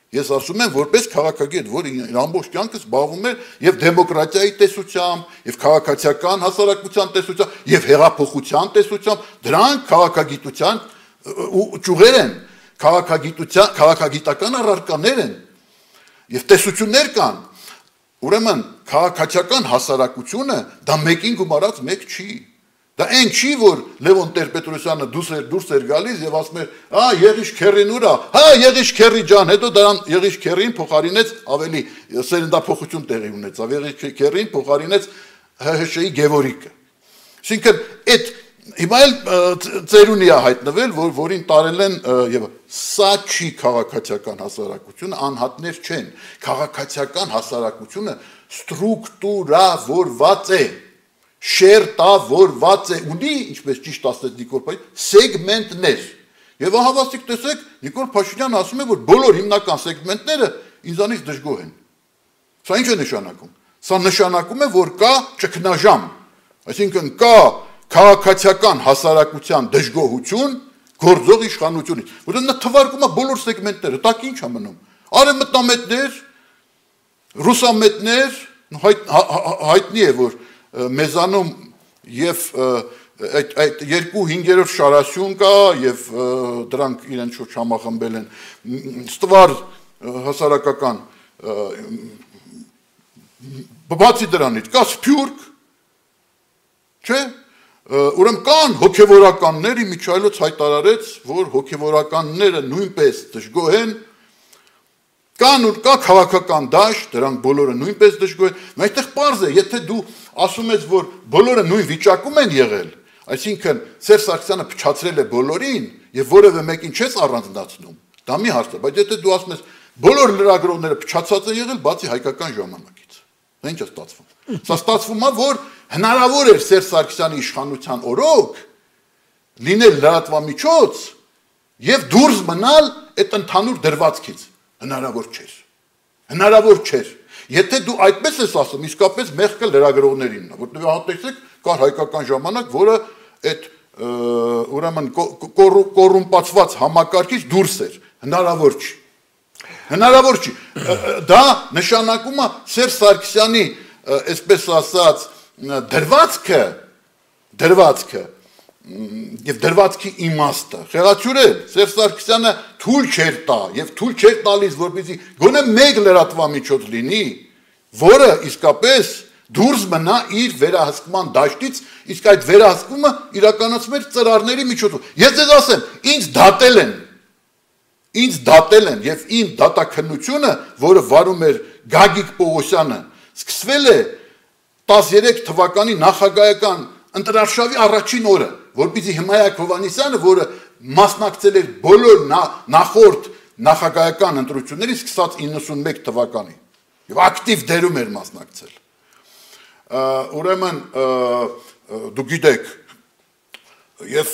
Speaker 4: Ես ասում եմ որպես քաղաքագետ, որ իր ամբողջ կյանքը զբաղվում է եւ դեմոկրատիայի տեսությամբ, եւ քաղաքացիական հասարակության տեսությամբ, եւ հեղափոխության տեսությամբ, դրանք քաղաքագիտության ճյուղեր են, քաղաքագիտության, քաղաքագիտական առարկաներ են եւ տեսություններ կան։ Ուրեմն քաղաքացիական հասարակությունը դա մեկին գումարած մեկ չի։ Դա այն չի, որ Լևոն Տեր-Պետրոսյանը դուրս էր դուրս էր գալիս եւ ասում էր, «Հա, Եղիշ Քերին ուրա, հա, Եղիշ Քերի ջան», հետո դրան Եղիշ Քերին փոխարինեց ավելի սերնդափոխություն տեղի ունեցավ, Եղիշ Քերին փոխարինեց Հ Հ Շ-ի Գևորիկը։ Այսինքն այդ հիմա էլ ծերունի է հայտնվել, որ որին տարել են եւ սա չի քաղաքացիական հասարակությունը, անհատներ չեն։ Քաղաքացիական հասարակությունը ստրուկտուրավորված է, շերտավորված է, ունի, ինչպես ճիշտ ասեց Նիկոլ Փաշինյանը, սեգմենտներ։ Եվ ահավասիկ տեսեք, Նիկոլ Փաշինյանը ասում է, որ բոլոր հիմնական սեգմենտները ինձանից դժգոհ են։ Սա ինչ է նշանակում։ Սա նշանակում է, որ կա ճգնաժամ, այսինքն կա քաղաքացիական հասարակության դժգոհություն գործող իշխանությունից, որտեղ նա թվարկում է բոլոր սեգմենտները, տակ ինչ է մնում։ Արևմտամետներ, ռուսամետներ, հայտնի է, որ մեզանում եւ այդ երկու հինգերորդ շարասյուն կա եւ դրանք իրենց շուրջ համախմբել են ստվար հասարակական բացի դրանից կա սփյուռք չէ ուրեմն կան հոգեվորականներ Միչայելոց հայտարարեց որ հոգեվորականները նույնպես դժգոհ են կան ու կա քաղաքական դաշտ դրանք բոլորը նույնպես դժգոհ են այդտեղ պարզ է եթե դու ասում ես որ բոլորը նույն վիճակում են եղել այսինքն Սերժ Սարգսյանը փչացրել է բոլորին եւ որևէ մեկին չես առանձնացնում դա մի հարց է բայց եթե դու ասում ես բոլոր լրագրողները փչացած են եղել բացի հայկական ժամանակից դա ինչ է ստացվում սա ստացվում է որ հնարավոր էր Սերժ Սարգսյանի իշխանության օրոք լինել լրատվամիջոց եւ դուրս մնալ այդ ընդհանուր դրվածքից հնարավոր չէր հնարավոր չէր եթե դու այդպես ես ասում իսկապես մեղքը լրագրողներինն է որտեղ հատեցեք կար հայկական ժամանակ որը այդ ուրեմն կոռումպացված համակարգից դուրս էր հնարավոր չի հնարավոր չի դա նշանակում է Սերժ Սարգսյանի այսպես ասած դրվածքը դրվածքը եւ դրվածքի իմաստը խեղաթյուրել Սերժ Սարգսյանը թույլ չէր տա եւ թույլ չէր տալիս որպեսզի գոնե մեկ լրատվամիջոց լինի որը իսկապես դուրս մնա իր վերահսկման դաշտից իսկ այդ վերահսկումը իրականացում էր ծրարների միջոցով ես ձեզ ասեմ ինձ դատել են ինձ դատել են եւ իմ դատաքննությունը որը վարում էր Գագիկ Պողոսյանը սկսվել է տասներեք թվականի նախագահական ընտրարշավի առաջին օրը որպեսզի Հմայակ Հովհաննիսյանը որը մասնակցել էր բոլոր նախորդ նախագահական ընտրություններից սկսած իննսունմեկ թվականի եւ ակտիվ դերում էր մասնակցել ուրեմն դուք գիտեք եւ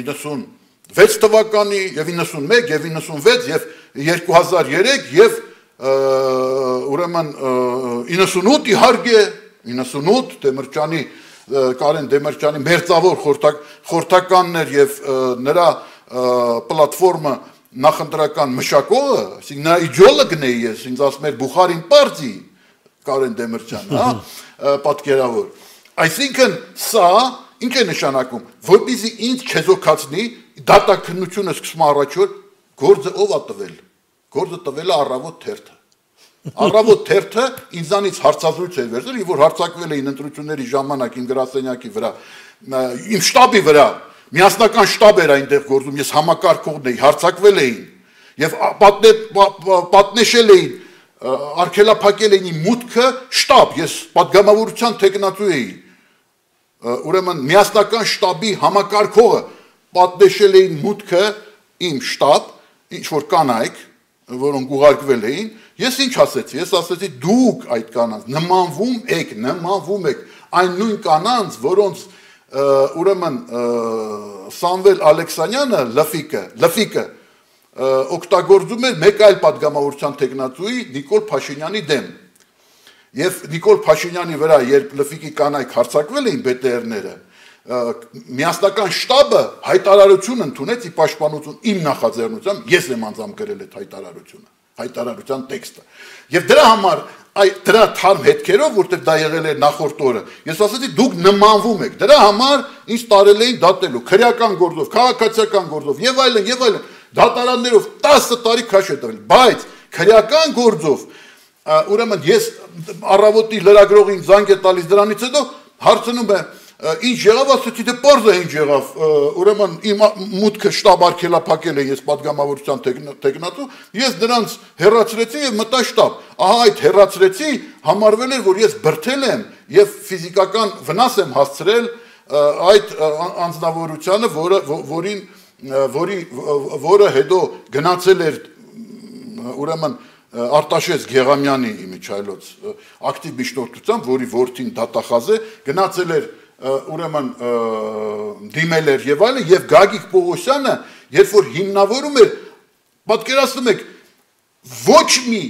Speaker 4: իննսունվեց թվականի եւ իննսունմեկ եւ իննսունվեց եւ երկու հազար երեք եւ ուրեմն իննսունութ իհարկե իննսունութ Դեմիրճյանի Կարեն Դեմիրճյանի մերձավոր խորհրդականներ եւ նրա պլատֆորմը նախընտրական մշակողը, այսինքն նա իդեոլոգն է ես, ինձ ասում էր Բուխարին պարտի Կարեն Դեմիրճյանը, հա, պատկերավոր։ Այսինքն սա ինչ է նշանակում, որպեսզի ինձ չեզոքացնի, դատաքննությունը սկսում առաջ որ գործը ով է տվել։ Գործը տվել է Առավոտ թերթը։ Առավոտ թերթը ինձանից հարցազրույց էր վերցրել, որ հարձակվել էին ընտրությունների ժամանակ իմ գրասենյակի վրա, իմ շտաբի վրա, միասնական շտաբ էր այնտեղ գործում, ես համակարգողն էի, հարձակվել էին եւ պատնեշել էին, արգելափակել էին իմ մուտքը շտաբ, ես պատգամավորության տեխնատու էի։ Ուրեմն միասնական շտաբի համակարգողը պատնեշել էին մուտքը իմ շտաբ, ինչ որ կանայք, որոնք ուղարկվել էին, ես ինչ ասեցի, ես ասեցի դուք այդ կանանց նմանվում եք, նմանվում եք այն նույն կանանց, որոնց ուրեմն Սամվել Ալեքսանյանը լֆիկը, լֆիկը օգտագործում էր մեկ այլ պատգամավորության տեխնատուի Նիկոլ Փաշինյանի դեմ։ Եվ Նիկոլ Փաշինյանի վրա, երբ լֆիկի կանայք հարձակվել էին բե տե էրները, միասնական շտաբը հայտարարություն ընդունեց ի պաշտպանություն իմ նախաձեռնությամբ, ես եմ անձամբ գրել այդ հայտարարությունը, հայտարարության տեքստը։ Եվ դրա համար այդ դրա թարմ հետքերով, որտեղ դա եղել էր նախորդ օրը, ես ասացի դուք նմանվում եք։ Դրա համար ինձ տարել էին դատելու քրեական գործով, քաղաքացիական գործով եւ այլն եւ այլն, դատարաններով տասը տարի քաշ է տվել, բայց քրեական գործով ուրեմն ես առավոտի լրագրողին զանգ է տալիս դրանից հետո հարցնում եմ ինչ եղավ, ասեցի դե պարզ է ինչ եղավ, ուրեմն իմ մուտքը շտաբ արգելափակել է ես պատգամավորության տեխնատու, ես դրանց հեռացրեցի եւ մտա շտաբ։ Ահա այդ հեռացրեցի համարվել էր, որ ես բրթել եմ եւ ֆիզիկական վնաս եմ հասցրել այդ անձնավորությանը, որը որին որի որը հետո գնացել էր ուրեմն Արտաշես Գեղամյանի Միչայելոց ակտիվ միջնորդությամբ, որի որդին դատախազ է, գնացել էր ուրեմն դիմել էր եւ այլն եւ Գագիկ Պողոսյանը երբ որ հիմնավորում էր պատկերացնում եք ոչ մի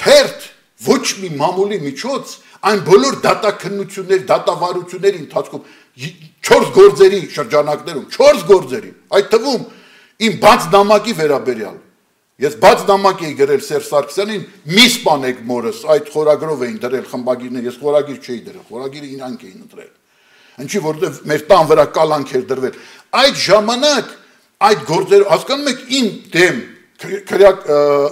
Speaker 4: թերթ ոչ մի մամուլի միջոց այն բոլոր դատաքննությունների դատավարությունների ընթացքում չորս գործերի շրջանակներում չորս գործերի այդ թվում իմ բաց նամակի վերաբերյալ ես բաց նամակ էի գրել Սերժ Սարգսյանին մի սպանեք մորս այդ խորագրով էին դրել խմբագիրներ ես խորագիր չէի դրել խորագիրը իրանք էին ընտրել Ինչի որտեղ մեր տան վրա կալանք էր դրվել։ Այդ ժամանակ այդ գործերը հասկանում եք իմ դեմ քրեակ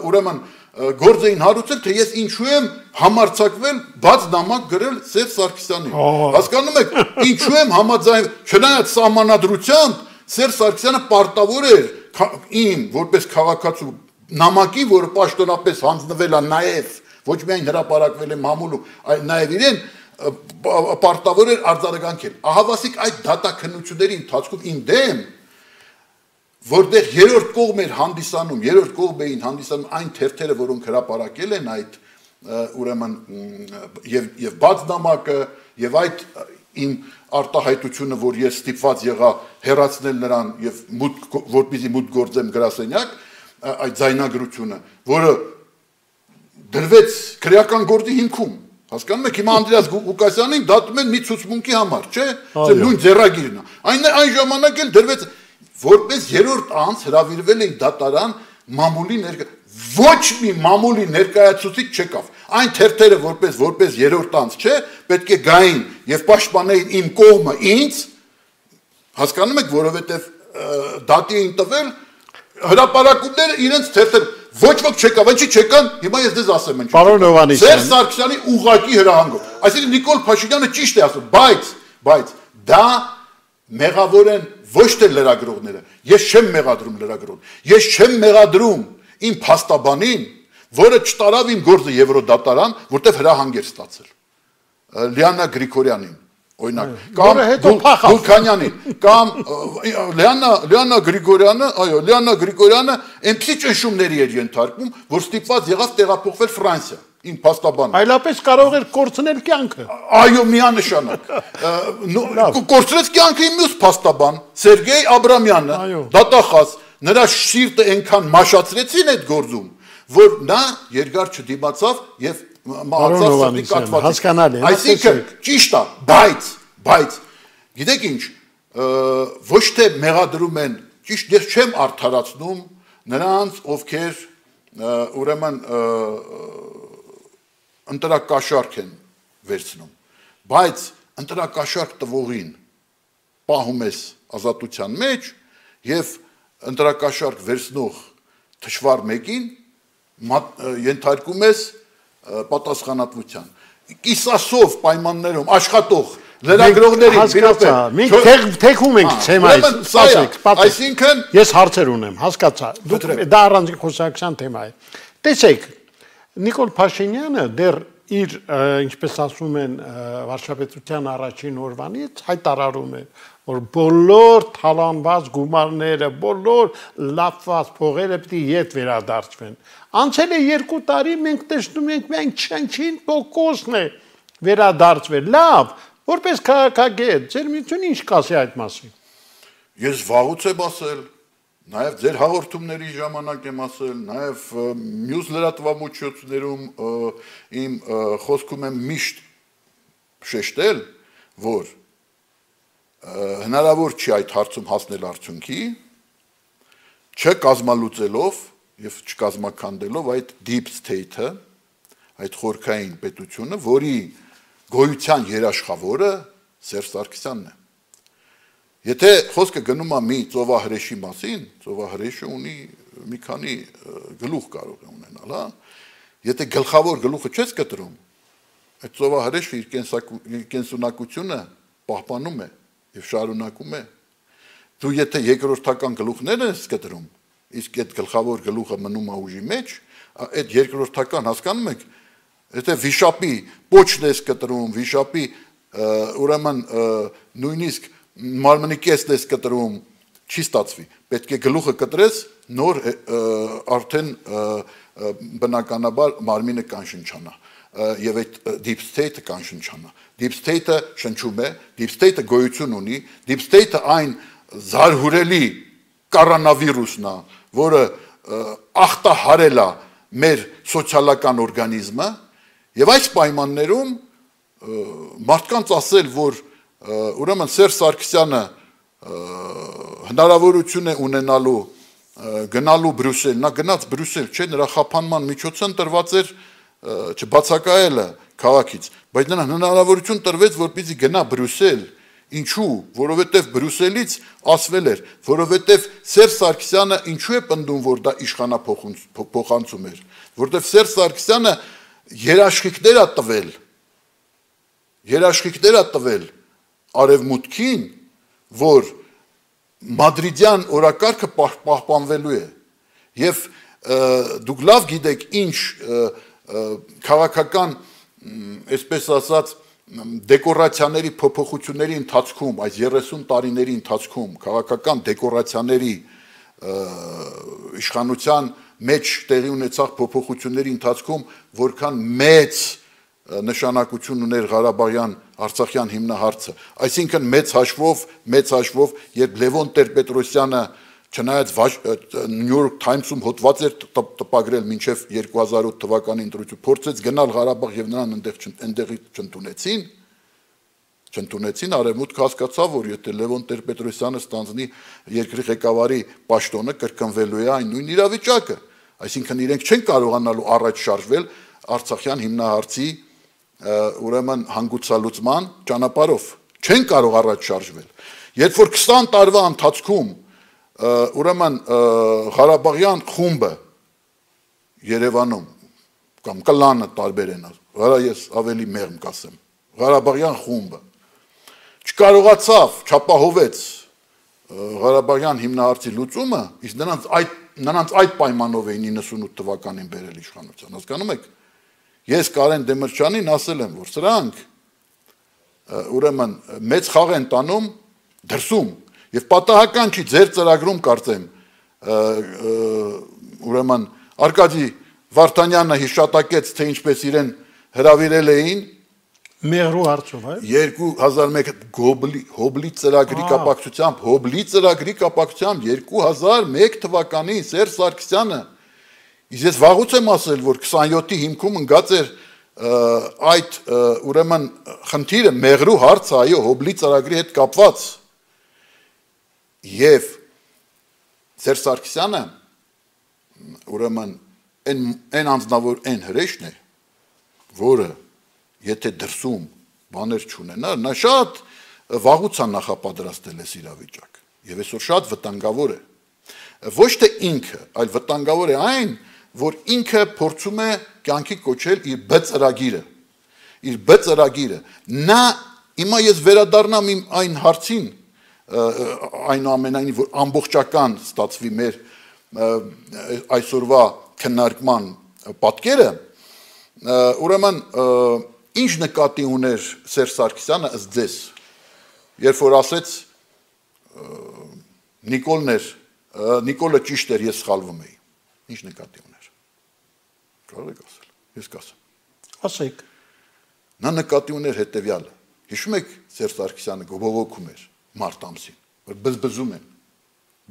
Speaker 4: ուրեմն գործ էին հարուցել, թե ես ինչու եմ համարձակվել բաց նամակ գրել Սերժ Սարգսյանին։ Հասկանում եք, ինչու եմ համաձայն, չնայած սահմանադրությամբ Սերժ Սարգսյանը պարտավոր էր իմ որպես քաղաքացու նամակի, որը պաշտոնապես հանձնվել է նաև ոչ միայն հրապարակվել է մամուլում, այլ նաև իրեն պարտավոր էր արձագանքել։ Ահավասիկ այդ դատաքննությունների ընթացքում իմ դեմ որտեղ երրորդ կողմ էր հանդիսանում, երրորդ կողմ էին հանդիսանում այն թերթերը, որոնք հրապարակել են այդ ուրեմն եւ եւ բաց նամակը եւ այդ իմ արտահայտությունը, որ ես ստիպված եղա հեռացնել նրան եւ մուտք որպեսզի մուտք գործեմ գրասենյակ, այդ ձայնագրությունը, որը դրվեց քրեական գործի հիմքում։ Հասկանում եք, հիմա Անդրեաս Ղուկասյանին դատում են մի ցուցմունքի համար, չէ՞։ Це նույն ձեռագիրն է։ Այն այն ժամանակ էլ դրվեց որպես երրորդ անձ հրավիրվել էին դատարան մամուլի ներկա ոչ մի մամուլի ներկայացուցիչ չեկավ այն թերթերը որպես որպես երրորդ անձ չէ պետք է գային եւ պաշտպանեին իմ կողմը ինձ հասկանում եք որովհետեւ դատի էին տվել հրապարակումները իրենց թերթեր ոչ ոք չեկավ ինչի չեկան հիմա ես դες ասեմ ինչ
Speaker 3: Պարոն Հովհաննիսյան
Speaker 4: Սերժ Սարգսյանի ուղղակի հրահանգով այսինքն Նիկոլ Փաշինյանը ճիշտ է ասում բայց բայց դա մեղավոր են ոչ թե լրագրողները, ես չեմ մեղադրում լրագրողներին, ես չեմ մեղադրում իմ փաստաբանին, որը չտարավ իմ գործը Եվրոդատարան, որտեղ հրահանգ էր ստացել։ Լիանա Գրիգորյանին, օրինակ, կամ Գուլքանյանին, կամ Լիանա Լիանա Գրիգորյանը, այո, Լիանա Գրիգորյանը այնպիսի ճնշումների էր ենթարկվում, որ ստիպված եղավ տեղափոխվել Ֆրանսիա։ Իմ փաստաբանը
Speaker 3: այլապես կարող էր կորցնել կյանքը
Speaker 4: այո միանշանակ կորցրեց կյանքը իմ մյուս փաստաբան Սերգեյ Աբրամյանը դատախազ նրա շիրտը այնքան մաշացրեցին այդ գործում որ նա երկար չդիմացավ եւ մահացավ սրտի կաթվածի այսինքն ճիշտ է բայց բայց գիտեք ինչ ոչ թե մեղադրում են ճիշտ ես չեմ արդարացնում նրանց ովքեր ուրեմն ընտրակաշարք են վերցնում, բայց ընտրակաշարք տվողին պահում ես ազատության մեջ և ընտրակաշարք վերցնող թշվառ մեկին ենթարկում ես պատասխանատվության։ Կիսասով պայմաններում աշխատող լրագրողներին
Speaker 3: մենք թեքում ենք թեմայից,
Speaker 4: այսինքն
Speaker 3: ես հարցեր ունեմ, հասկացա, դա առանձին խոսակցության թեմա է։ Տեսեք, Նիկոլ Փաշինյանը դեռ իր, ինչպես ասում են, վարչապետության առաջին օրվանից հայտարարում է, որ բոլոր թալանված գումարները, բոլոր լապված փողերը պիտի ետ վերադարձվեն։ Անցել է երկու տարի, մենք տեսնում ենք մենք չնչին տոկոսն է վերադարձվել։ Լավ, որպես քաղաքագետ, ձեր միությունը ինչ կասի այդ մասին։
Speaker 4: Ես վաղուց եմ ասել Նաև ձեր հաղորդումների ժամանակ եմ ասել, նաև մյուս լրատվամիջոցներում իմ խոսքում եմ միշտ շեշտել, որ հնարավոր չի այդ հարցում հասնել արդյունքի, չկազմալուծելով եւ չկազմաքանդելով այդ deep state-ը, այդ խորքային պետությունը, որի գոյության երաշխավորը Սերժ Սարգսյանն է։ Եթե խոսքը գնում է մի ծովահրեշի մասին, ծովահրեշը ունի մի քանի գլուխ կարող է ունենալ, հա։ Եթե գլխավոր գլուխը չես կտրում, այդ ծովահրեշը իր կենսունակությունը պահպանում է եւ շարունակում է։ Դու եթե երկրորդական գլուխներն ես կտրում, իսկ այդ գլխավոր գլուխը մնում է ուժի մեջ, այդ երկրորդական հասկանում եք, եթե վիշապի պոչն ես կտրում, վիշապի ուրեմն նույնիսկ մարմնի կեսն ես կտրում, չի ստացվի, պետք է գլուխը կտրես, նոր արդեն բնականաբար մարմինը կանշնչանա, և այդ deep state-ը կանշնչանա, deep state-ը շնչում է, deep state-ը գոյություն ունի, deep state-ը այն զարհուրելի կառանավիրուսն է, որը ախտահարել է մեր սոցիալական օրգանիզմը, և այս պայմաններում մարդկանց ասել, որ ուրեմն Սերժ Սարգսյանը հնարավորություն է ունենալու գնալու Բրյուսել, նա գնաց Բրյուսել, չէ, նրա խափանման միջոցը ընտրված էր չբացակայելը քաղաքից, բայց նրան հնարավորություն տրվեց, որպեսզի գնա Բրյուսել, Ինչու, որովհետև Բրյուսելից ասվել էր, որովհետև Սերժ Սարգսյանը ինչու է պնդում, որ դա իշխանափոխանցում էր, որովհետև Սերժ Սարգսյանը երաշխիքներ է տվել, երաշխիքներ է տվել Արևմուտքին, որ մադրիդյան օրակարգը պահպանվելու է, եւ դուք լավ գիտեք ինչ քաղաքական, այսպես ասած, դեկորացիաների փոփոխությունների ընթացքում, այս երեսուն տարիների ընթացքում, քաղաքական դեկորացիաների իշխանության մեջ տեղի ունեցող փոփոխությունների ընթացքում, որքան մեծ նշանակություն ուներ Ղարաբաղյան Արցախյան հիմնահարցը, այսինքն մեծ հաշվով, մեծ հաշվով, երբ Լևոն Տեր-Պետրոսյանը չնայած New York Times-ում հոդված էր տպագրել մինչև երկու հազար ութ թվականի ընտրություն, փորձեց գնալ Ղարաբաղ եւ նրան այնտեղի չընդունեցին, չընդունեցին, Արևմուտքը հասկացավ, որ եթե Լևոն Տեր-Պետրոսյանը ստանձնի երկրի ղեկավարի պաշտոնը, կրկնվելու է այն նույն իրավիճակը, այսինքն իրենք չեն կարողանալու առաջ շարժվել Արցախյան հիմնահարցի ուրեմն հանգուցալուծման ճանապարհով, չեն կարող առաջ շարժվել։ Երբ որ քսան տարվա ընթացքում ուրեմն Ղարաբաղյան խումբը Երևանում կամ կլանը տարբեր են, վրա ես ավելի մեղմ կասեմ, Ղարաբաղյան խումբը չկարողացավ, չապահովեց Ղարաբաղյան հիմնահարցի լուծումը, իսկ նրանց այդ նրանց այդ պայմանով էին իննսունութ թվականին բերել իշխանության, հասկանում եք։ Ես Կարեն Դեմիրճյանին ասել եմ, որ սրանք ուրեմն մեծ խաղ են տանում դրսում եւ պատահական չի ձեր ծրագրում կարծեմ ուրեմն Արկադի Վարդանյանը հիշատակեց, թե ինչպես իրեն հրավիրել էին
Speaker 3: Մեղրու հարցով, այ
Speaker 4: երկու հազար մեկ Հոբլի ծրագրի կապակցությամբ, Հոբլի ծրագրի կապակցությամբ երկու հազար մեկ թվականին Սերժ Սարգսյանը, իսկ ես վաղուց եմ ասել, որ քսանյոթի հիմքում ընկած էր այդ ուրեմն խնդիրը Մեղրու հարցը, այո, Հոբլի ծրագրի հետ կապված, եւ Սերժ Սարգսյանը ուրեմն այն անձնավոր այն հրեշն է, որը եթե դրսում բաներ չունենար, նա շատ վաղուց է նախապատրաստել այս իրավիճակ եւ այսօր շատ վտանգավոր է։ Ոչ թե ինքը, այլ վտանգավոր է այն, որ ինքը փորձում է կյանքի կոչել իր B ծրագիրը, իր B ծրագիրը։ Նա հիմա ես վերադառնամ իմ այն հարցին, այնուամենայնիվ որ ամբողջական ստացվի մեր այսօրվա քննարկման պատկերը, ուրեմն ինչ նկատի ուներ Սերժ Սարգսյանը ըստ ձեզ, երբ որ ասեց Նիկոլն էր, Նիկոլը ճիշտ էր, ես սխալվում էի, ինչ նկատի ուներ, կարող եք ասել, ես կասեմ,
Speaker 3: ասեք,
Speaker 4: նա նկատի ուներ հետևյալը, հիշում եք Սերժ Սարգսյանը բողոքում էր մարտ ամսին, որ բզբզում են,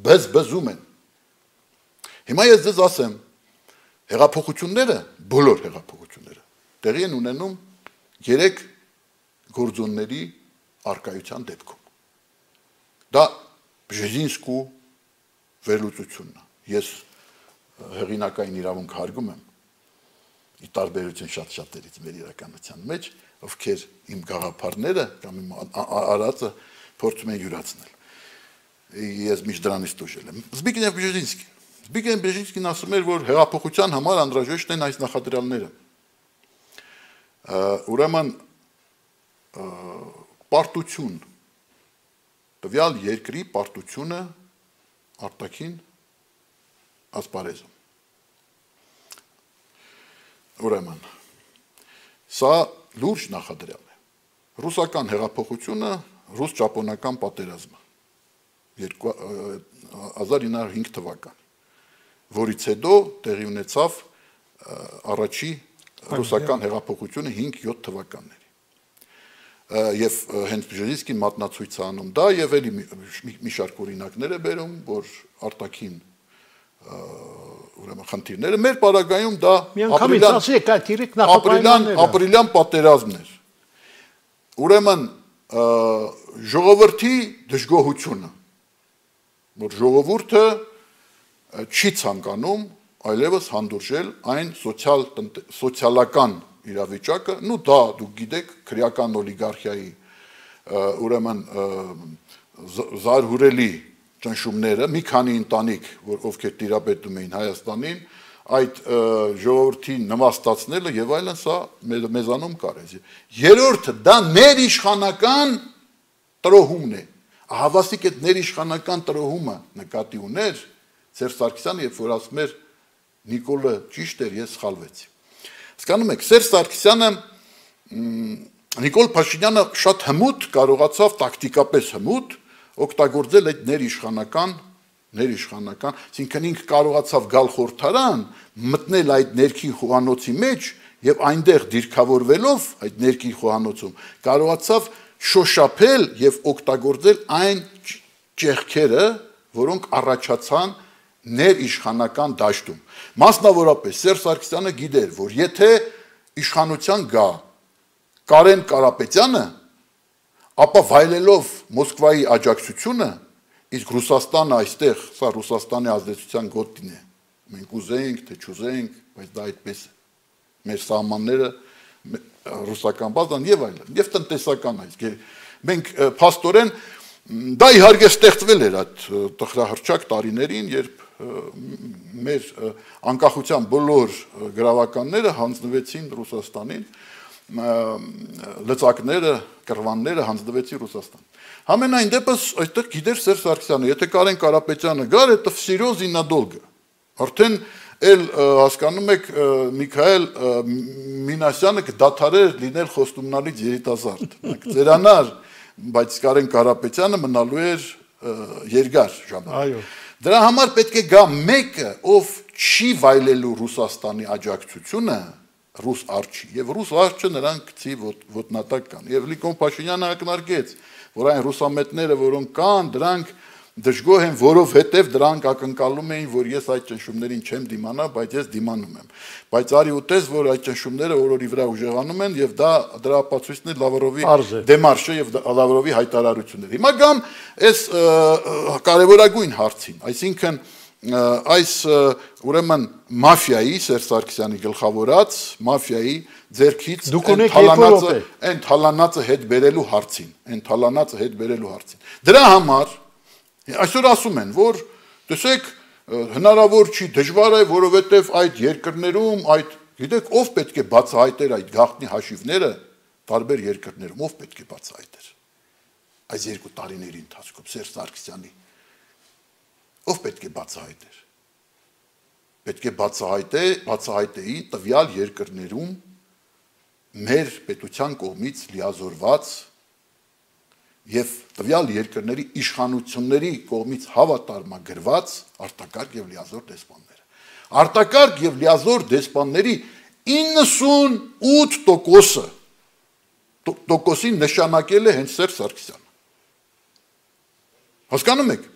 Speaker 4: բզբզում են, հիմա ես ձեզ ասեմ, հեղափոխությունները, բոլոր հեղափոխությունները, տեղի են ունենում երեք գործոնների արկայության դեպքում։ Դա Բժեզինսկու վերլուծությունն է։ Ես հեղինակային իրավունք հարգում եմ, ի տարբերություն շատ շատերից մեր իրականության մեջ, ովքեր իմ գաղափարները կամ իմ արածը փորձում են յուրացնել։ Ես միշտ դրանից տուժել եմ։ Զբիգնև Բժեզինսկին Զբիգնև Բժեզինսկին ասում էր, որ հեղափոխության համար անհրաժեշտ են այս նախադրյալները։ Ուրեմն պարտություն, տվյալ երկրի պարտությունը արտաքին ասպարեզում։ Ուրեմն, սա լուրջ նախադրյալ է։ Ռուսական հեղափոխությունը, ռուս-ճապոնական պատերազմը հազար ինը հարյուր հինգ թվական, որից հետո տեղի ունեցավ առաջի ռուսական հեղափոխությունը հինգ-յոթ թվականների։ Եվ հենց Բժեզինսկին մատնացույց է անում դա եւ էլի մի շարք օրինակներ է բերում, որ արտաքին ուրեմն խնդիրները մեր պարագայում դա ապրիլյան ապրիլյան պատերազմն էր։ Ուրեմն ժողովրդի դժգոհությունը, որ ժողովուրդը չի ցանկանում այլևս հանդուրժել այն սոցիալ սոցիալական իրավիճակը, նու դա դուք գիտեք քրեական օլիգարխիայի ուրեմն զարհուրելի ճնշումները, մի քանի ընտանիք, որ ովքեր տիրապետում էին Հայաստանին, այդ ժողովրդին նվաստացնելը եւ այլն, սա մեզանում կար է։ Երրորդը դա ներիշխանական տրոհումն է։ Հավասիկ այդ ներիշխանական տրոհումը նկատի ուներ Սերժ Սարգսյանը, երբ որ ասում էր Նիկոլը ճիշտ էր, ես սխալվեցի։ Հասկանում եք, Սերժ Սարգսյանը Նիկոլ Փաշինյանը շատ հմուտ կարողացավ տակտիկապես հմուտ օգտագործել այդ ներիշխանական ներիշխանական, այսինքն ինքը կարողացավ գալ խորհրդարան, մտնել այդ ներքին խոհանոցի մեջ եւ այնտեղ դիրքավորվելով այդ ներքին խոհանոցում կարողացավ շոշափել եւ օգտագործել այն ճեղքերը, որոնք առաջացան ներիշխանական դաշտում։ Մասնավորապես Սերժ Սարգսյանը գիտեր, որ եթե իշխանության գա Կարեն Կարապետյանը, ապա վայելելով Մոսկվայի աջակցությունը, իսկ Ռուսաստանը այստեղ, սա Ռուսաստանի ազդեցության գոտին է։ Մենք ուզենք, թե չուզենք, բայց դա այդպես է։ Մեր սահմանները ռուսական բազան եւ այլն, եւ տնտեսական այս։ Մենք փաստորեն դա իհարկե ստեղծվել էր այդ տխրահռչակ տարիներին, երբ մեր անկախության բոլոր գրավականները հանձնվեցին Ռուսաստանին, լծակները, կռվանները հանձնվեցին Ռուսաստան։ Համենայն դեպս այդտեղ գիտեր Սերժ Սարգսյանը, եթե Կարեն Կարապետյանը գար, это всерьез и надолго։ Արդեն էլ հասկանում եք Միքայել Մինասյանը կդադարեր լինել խոստումնալից երիտասարդ։ Ձերանար, բայց Կարեն Կարապետյանը մնալու էր երկար ժամանակ։ Այո։ Դրա համար պետք է գա մեկը, ով չի վայելելու Ռուսաստանի աջակցությունը, ռուս արջի, եւ ռուս արջը նրան գցի ոտնատակ կան։ Եվ Նիկոլ Փաշինյանը ակնարկեց, որ այն ռուսամետները, որոնք կան, դրանք դժգոհ են, որովհետև դրանք ակնկալում էին, որ ես այդ ճնշումներին չեմ դիմանա, բայց ես դիմանում եմ։ Բայց արի ուտես, որ այդ ճնշումները օրորի վրա ուժեղանում են եւ դա դրա ապացույցն է Լավրովի դեմարշը եւ Լավրովի հայտարարությունները։ Հիմա գամ այս կարևորագույն հարցին, այսինքն այս ուրեմն մաֆիայի Սերժ Սարգսյանի գլխավորած մաֆիայի ձերքից այն թալանածը հետ բերելու հարցին, այն թալանածը հետ բերելու հարցին։ Դրա համար այսօր ասում են, որ տեսեք հնարավոր չի, դժվար է, որովհետև այդ երկրներում, այդ գիտեք, ով պետք է բացահայտեր այդ գաղտնի հաշիվները տարբեր երկրներում, ով պետք է բացահայտեր այս երկու տարիների ընթացքում Սերժ Սարգսյանի, ով պետք է բացահայտեր։ Պետք է բացահայտե, բացահայտեի տվյալ երկրներում մեր պետության կողմից լիազորված եւ տվյալ երկրների իշխանությունների կողմից հավատարմագրված արտակարգ եւ լիազոր դեսպանները։ Արտակարգ եւ լիազոր դեսպանների իննսունութ տոկոսը տոկոսին նշանակել է հենց Սերժ Սարգսյանը։ Հասկանում եք։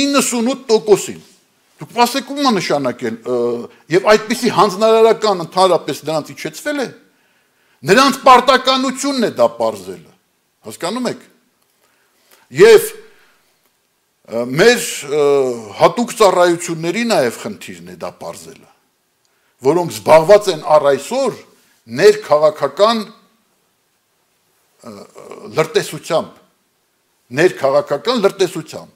Speaker 4: իննսունութ տոկոսին։ Դուք ասեք ում է նշանակել եւ այդպիսի հանձնարարական ընդհանրապես նրանց իջեցվել է։ Նրանց պարտականությունն է դա պարզելը։ Հասկանում եք։ Եվ մեր հատուկ ծառայությունների նաև խնդիրն է դա պարզելը, որոնք զբաղված են առ այսօր ներքաղաքական լրտեսությամբ, ներքաղաքական լրտեսությամբ։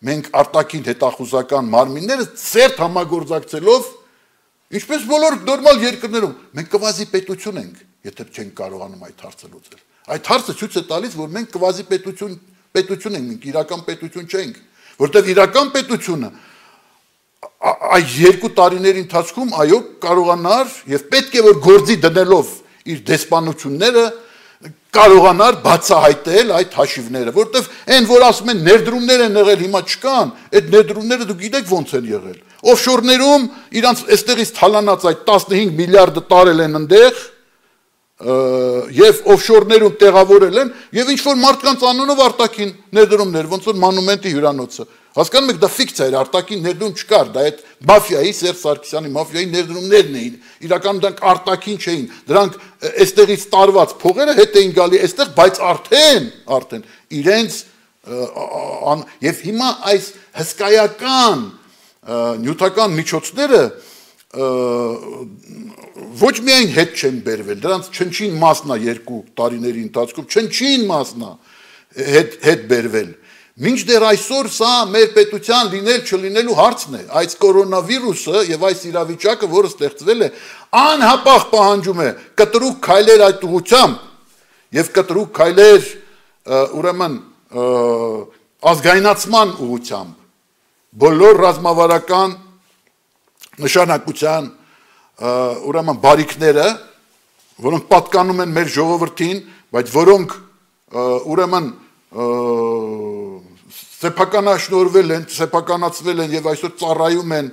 Speaker 4: Մենք արտաքին հետախուզական մարմինները ծերտ համագործակցելով, ինչպես բոլոր նորմալ երկրներում, մենք կվազի պետություն ենք, եթե չենք կարողանում այդ հարցը լուծել։ Այդ հարցը ցույց է տալիս, որ մենք կվազի պետություն պետություն ենք, մենք իրական պետություն չենք, որտեղ իրական պետությունը այս երկու տարիների ընթացքում այո կարողանար եւ պետք է որ գործի դնելով իր դեսպանությունները կարողանար բացահայտել այդ հաշիվները, որտեղ այն որ ասում են ներդրումներ են եղել, հիմա չկան, այդ ներդրումները դուք գիտեք ոնց են եղել։ Օֆշորներում իրանց այստեղից թալանած այդ տասնհինգ միլիարդը տարել են այնտեղ եւ օֆշորներում տեղավորել են եւ ինչ որ մարդկանց անունով արտաքին ներդրումներ, ոնց որ մանումենտի հյուրանոցը։ Հասկանում եք, դա ֆիկցիա էր, արտաքին ներդրում չկար, դա այդ մաֆիայի, Սերժ Սարգսյանի մաֆիայի ներդրումներն էին։ Իրականում դրանք արտաքին չէին, դրանք այստեղից տարված փողերը հետ էին գալի այստեղ, բայց արդեն, արդեն իրենց եւ հիմա այս հսկայական նյութական միջոցները ոչ միայն հետ չեն բերվել, դրանց չնչին մասնա երկու տարիների ընթացքում, չնչին մասնա հետ, հետ բերվել, մինչդեռ այսօր սա մեր պետության լինել չլինելու հարցն է, այս կորոնավիրուսը և այս իրավիճակը, որը ստեղծվել է, անհապաղ պահանջում է կտրուկ քայլեր այդ ուղղությամբ և կտրուկ քայլեր ուրեմն ազգայնացման ուղղությամբ, բոլոր ռազմավարական նշանակության ուրեմն բարիքները, որոնք պատկանում են մեր ժողովրդին, բայց որոնք ուրեմն սեփականաշնորհվել են, սեփականացվել են եւ այսօր ծառայում են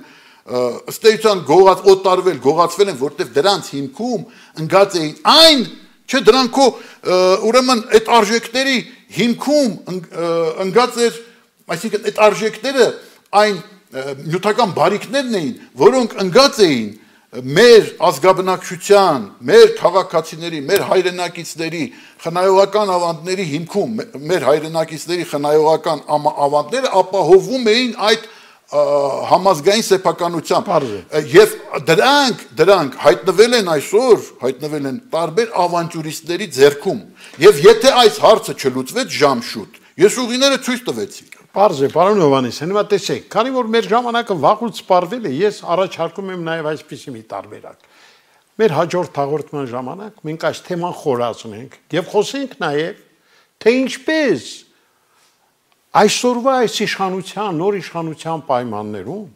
Speaker 4: ըստ էության գողած օտարվել, գողացվել են, որտեղ դրանց հիմքում ընկած էին այն, չէ, դրանքո ուրեմն այդ արժեքների հիմքում ընկած էր, այսինքն այդ արժեքները այն նյութական բարիքներն էին, որոնք ընկած էին մեր ազգաբնակչության, մեր քաղաքացիների, մեր հայրենակիցների խնայողական ավանդների հիմքում, մեր հայրենակիցների խնայողական ավանդները ապահովում էին այդ համազգային սեփականությամբ եւ դրանք դրանք հայտնվել են այսօր, հայտնվել են տարբեր ավանտյուրիստների ձեռքում եւ եթե այս հարցը չլուծվեց ժամշուտ, ես ուղիները ցույց տվեցի։
Speaker 3: Պարզ է, պարոն Հովհաննիսյան, հիմա տեսեք, քանի որ մեր ժամանակը վաղուց սպառվել է, ես առաջարկում եմ նաև այսպիսի մի տարբերակ։ Մեր հաջորդ հաղորդման ժամանակ մենք այս թեման խորացնենք եւ խոսենք նաև, թե ինչպես այսօրվա այս իշխանության, նոր իշխանության պայմաններում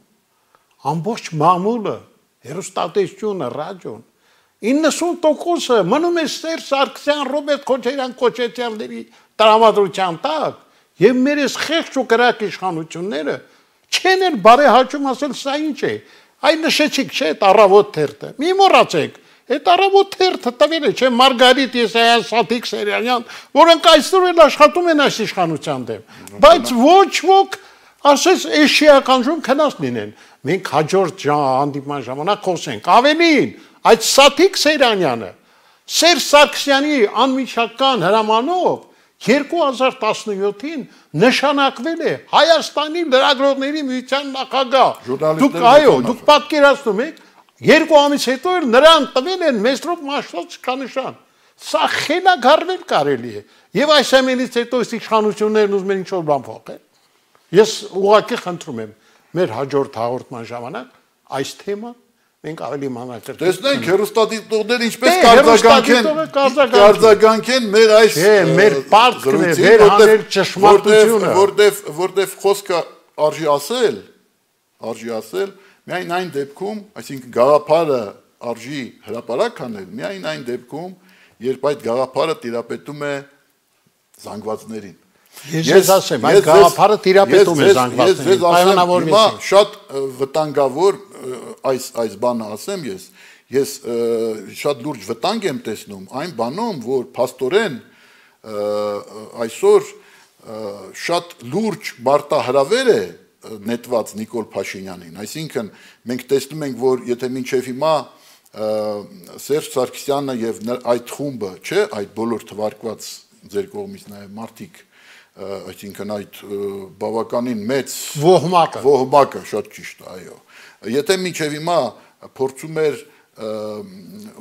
Speaker 3: ամբողջ մամուլը, հեռուստատեսությունը, ռադիոն իննսուն տոկոսը մնում է Սերժ Սարգսյան, Ռոբերտ Քոչարյան կոչեցյալների տրամադրության տակ եւ մեր այս խեղճ ու կրակ իշխանությունները չեն էլ բարեհաճում ասել սա ինչ է։ Այն նշեցիք, չէ, այդ առավոտ թերթը։ Մի մոռացեք, այդ առավոտ թերթը տվել է, չէ, Մարգարիտ Եսայան, Սաթիկ Սերյանյան, որոնք այսօր էլ աշխատում են այս իշխանության դեմ։ Բայց ոչ ոք ասես էշիականություն քնած լինեն։ Մենք հաջորդ հանդիպման ժամանակ խոսենք։ Ավելին, այդ Սաթիկ Սերյանը Սերժ Սարգսյանի անմիջական հրամանով երկու հազար տասնյոթին նշանակվել է Հայաստանի լրագրողների միության նախագահ։ Դուք այո, դուք պատկերացնում եք, երկու ամիս հետո էլ նրան տվել են Մեսրոպ Մաշտոց կանշան։ Սա խելագարվել կարելի է։ Եվ այս ամենից հետո այս իշխանություններն ուզում են ինչ-որ բան փոխել։ Ես ուղղակի խնդրում եմ մեր հաջորդ հաղորդման ժամանակ այս թեման մենք ավելի մանրակրկիտ
Speaker 4: տեսնենք հեռուստադիտողները ինչպես կարձագանքեն մեր այս
Speaker 3: մեր պարտքն է վերհանել ճշմարտությունը,
Speaker 4: որտեվ որտեվ խոսքը արժի ասել, արժի ասել, միայն այն դեպքում, այսինքն գաղափարը արժի հրապարակ անել, միայն այն դեպքում, երբ այդ գաղափարը տիրապետում է զանգվածներին։
Speaker 3: Ես ասեմ, այդ գաղափարը տիրապետում է զանգվածներին, պայմանավորվեցին։
Speaker 4: Շատ վտանգավոր այս այս բանը ասեմ ես, ես շատ լուրջ վտանգ եմ տեսնում այն բանում, որ փաստորեն այսօր շատ լուրջ մարտահրավեր է նետված Նիկոլ Փաշինյանին, այսինքն մենք տեսնում ենք, որ եթե մինչև հիմա Սերժ Սարգսյանը եւ այդ խումբը, չէ, այդ բոլոր թվարկված ձեր կողմից նաեւ մարդիկ, այսինքն այդ բավականին մեծ
Speaker 3: ոհմակը,
Speaker 4: ոհմակը շատ ճիշտ, այո։ Եթե մինչև հիմա փորձում էր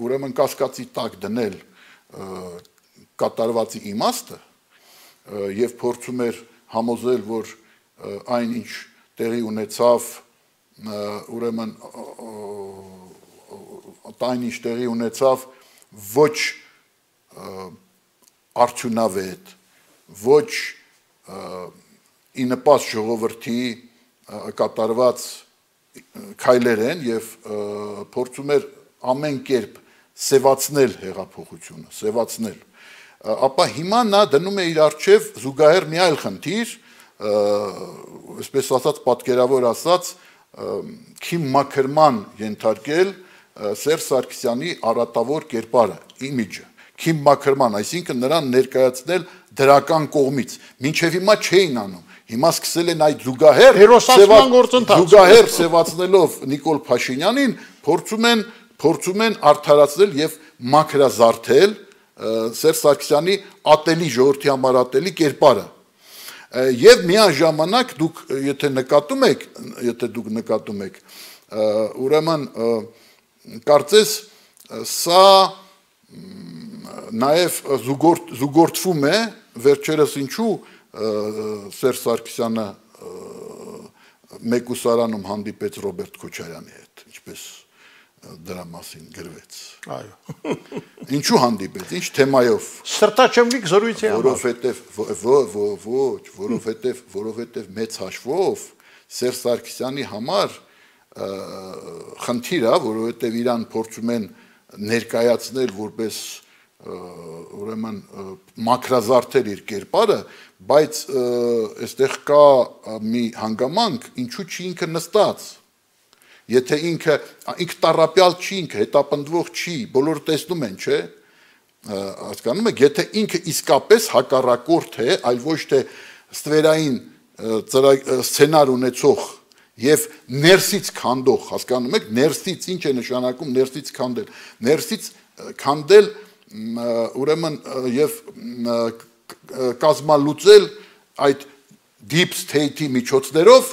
Speaker 4: ուրեմն կասկածի տակ դնել կատարվածի իմաստը եւ փորձում էր համոզել, որ այն ինչ տեղի ունեցավ, ուրեմն այն ինչ տեղի ունեցավ ոչ արդյունավետ, ոչ ի նպաստ ժողովրդի կատարված քայլեր են եւ փորձում էր ամեն կերպ սևացնել հեղափոխությունը, սևացնել։ Ապա հիմա նա դնում է իր առջև զուգահեռ մի այլ խնդիր, այսպես ասած պատկերավոր ասած, քիմ մաքրման ենթարկել Սերժ Սարգսյանի առատավոր կերպարը, իմիջը, քիմ մաքրման, այսինքն նրան ներկայացնել դրական կողմից, մինչև հիմա չէին անում, հիմա սկսել են այդ զուգահեռ զուգահեռ սևացնելով Նիկոլ Փաշինյանին, փորձում են փորձում են արդարացնել եւ մաքրազարդել Սերժ Սարգսյանի ատելի ժողովրդի համար ատելի կերպարը։ Եվ միաժամանակ դուք եթե նկատում եք, եթե դուք նկատում եք, ուրեմն կարծես սա նաև զուգորդվում է վերջերս ինչու Սերժ Սարգսյանը մեկուսարանում հանդիպեց Ռոբերտ Քոչարյանի հետ, ինչպես դրա մասին գրվեց։
Speaker 3: Այո։
Speaker 4: Ինչու հանդիպեց, ինչ թեմայով։
Speaker 3: Սրտաչեմլիկ զրույցի համար։
Speaker 4: Որովհետև ոչ, որովհետև որովհետև մեծ հաշվով Սերժ Սարգսյանի համար խնդիր է, որովհետև իրան փորձում են ներկայացնել որպես ուրեմն մակրազարդել իր կերպարը, բայց այստեղ կա մի հանգամանք, ինչու չի ինքը նստած։ Եթե ինքը ինքը տառապյալ չի, ինքը հետապնդվող չի, բոլորը տեսնում են, չէ՞։ Հասկանում եք, եթե ինքը իսկապես հակառակորդ է, այլ ոչ թե ստվերային սցենար ունեցող եւ ներսից քանդող, հասկանում եք, ներսից ինչ է նշանակում ներսից քանդել։ Ներսից քանդել ուրեմն եւ կազմալուծել այդ deep state-ի միջոցներով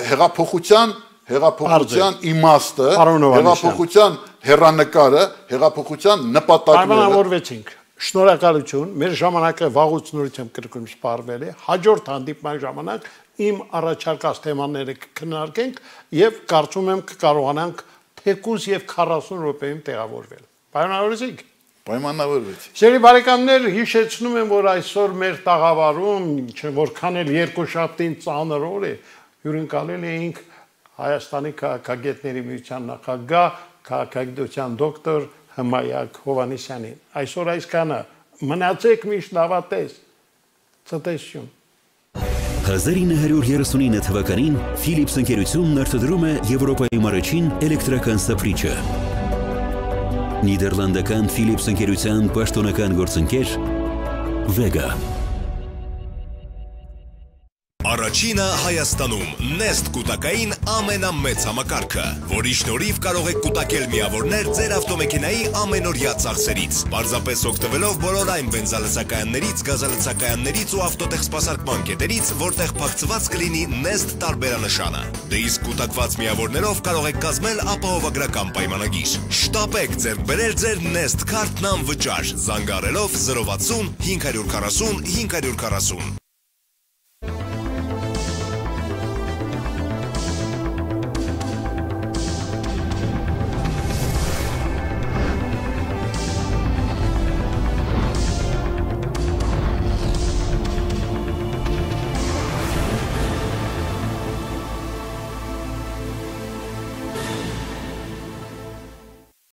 Speaker 4: հեղափոխության հեղափոխության իմաստը, հեղափոխության հեռանկարը, հեղափոխության նպատակները։
Speaker 3: Պայմանավորվեցինք։ Շնորհակալություն, մեր ժամանակը վաղուց նորից եմ կրկնում սպառվել է, հաջորդ հանդիպման ժամանակ իմ առաջարկած թեմաները կքննարկենք եւ կարծում եմ կկարողանանք թեկուզ եւ քառասուն րոպեում տեղավորվել։ Պայմանավորվեցինք։
Speaker 4: Պայմանավորվեցի։
Speaker 3: Սիրելի բարեկամներ, հիշեցնում եմ, որ այսօր մեր տաղավարում, որքան էլ երկուշաբթին ծանր օր է, հյուրընկալել էինք Հայաստանի քաղաքագետների միության նախագահ, քաղաքագիտության դոկտոր Հմայակ Հովհաննիսյանին։ Այսօր այսքանը, մնացեք միշտ լավատես։ Ցտեսություն։
Speaker 1: հազար ինը հարյուր երեսունինը թվականին Philips ընկերությունն արտադրում է Եվրոպայում առաջին էլեկտրական սափրիչը։ Նիդերլանդական Philips ընկերության պաշտոնական գործընկեր Vega։
Speaker 2: Առաջինը Հայաստանում Nest կուտակային ամենամեծ համակարգը, որի շնորհիվ կարող եք կուտակել միավորներ ձեր ավտոմեքենայի ամենօրյա ծախսերից, պարզապես օգտվելով բոլոր այն բենզալցակայաններից, գազալցակայաններից ու ավտոտեխսպասարկման կետերից, որտեղ փակցված կլինի Nest տարբերանշանը։ Դե իսկ կուտակված միավորներով կարող եք կազմել ապահովագրական պայմանագիր։ Շտապեք ձեռք բերել ձեր Nest քարտն անվճար, զանգահարելով զրո վաթսուն հինգ հարյուր քառասուն հինգ հարյուր քառասուն։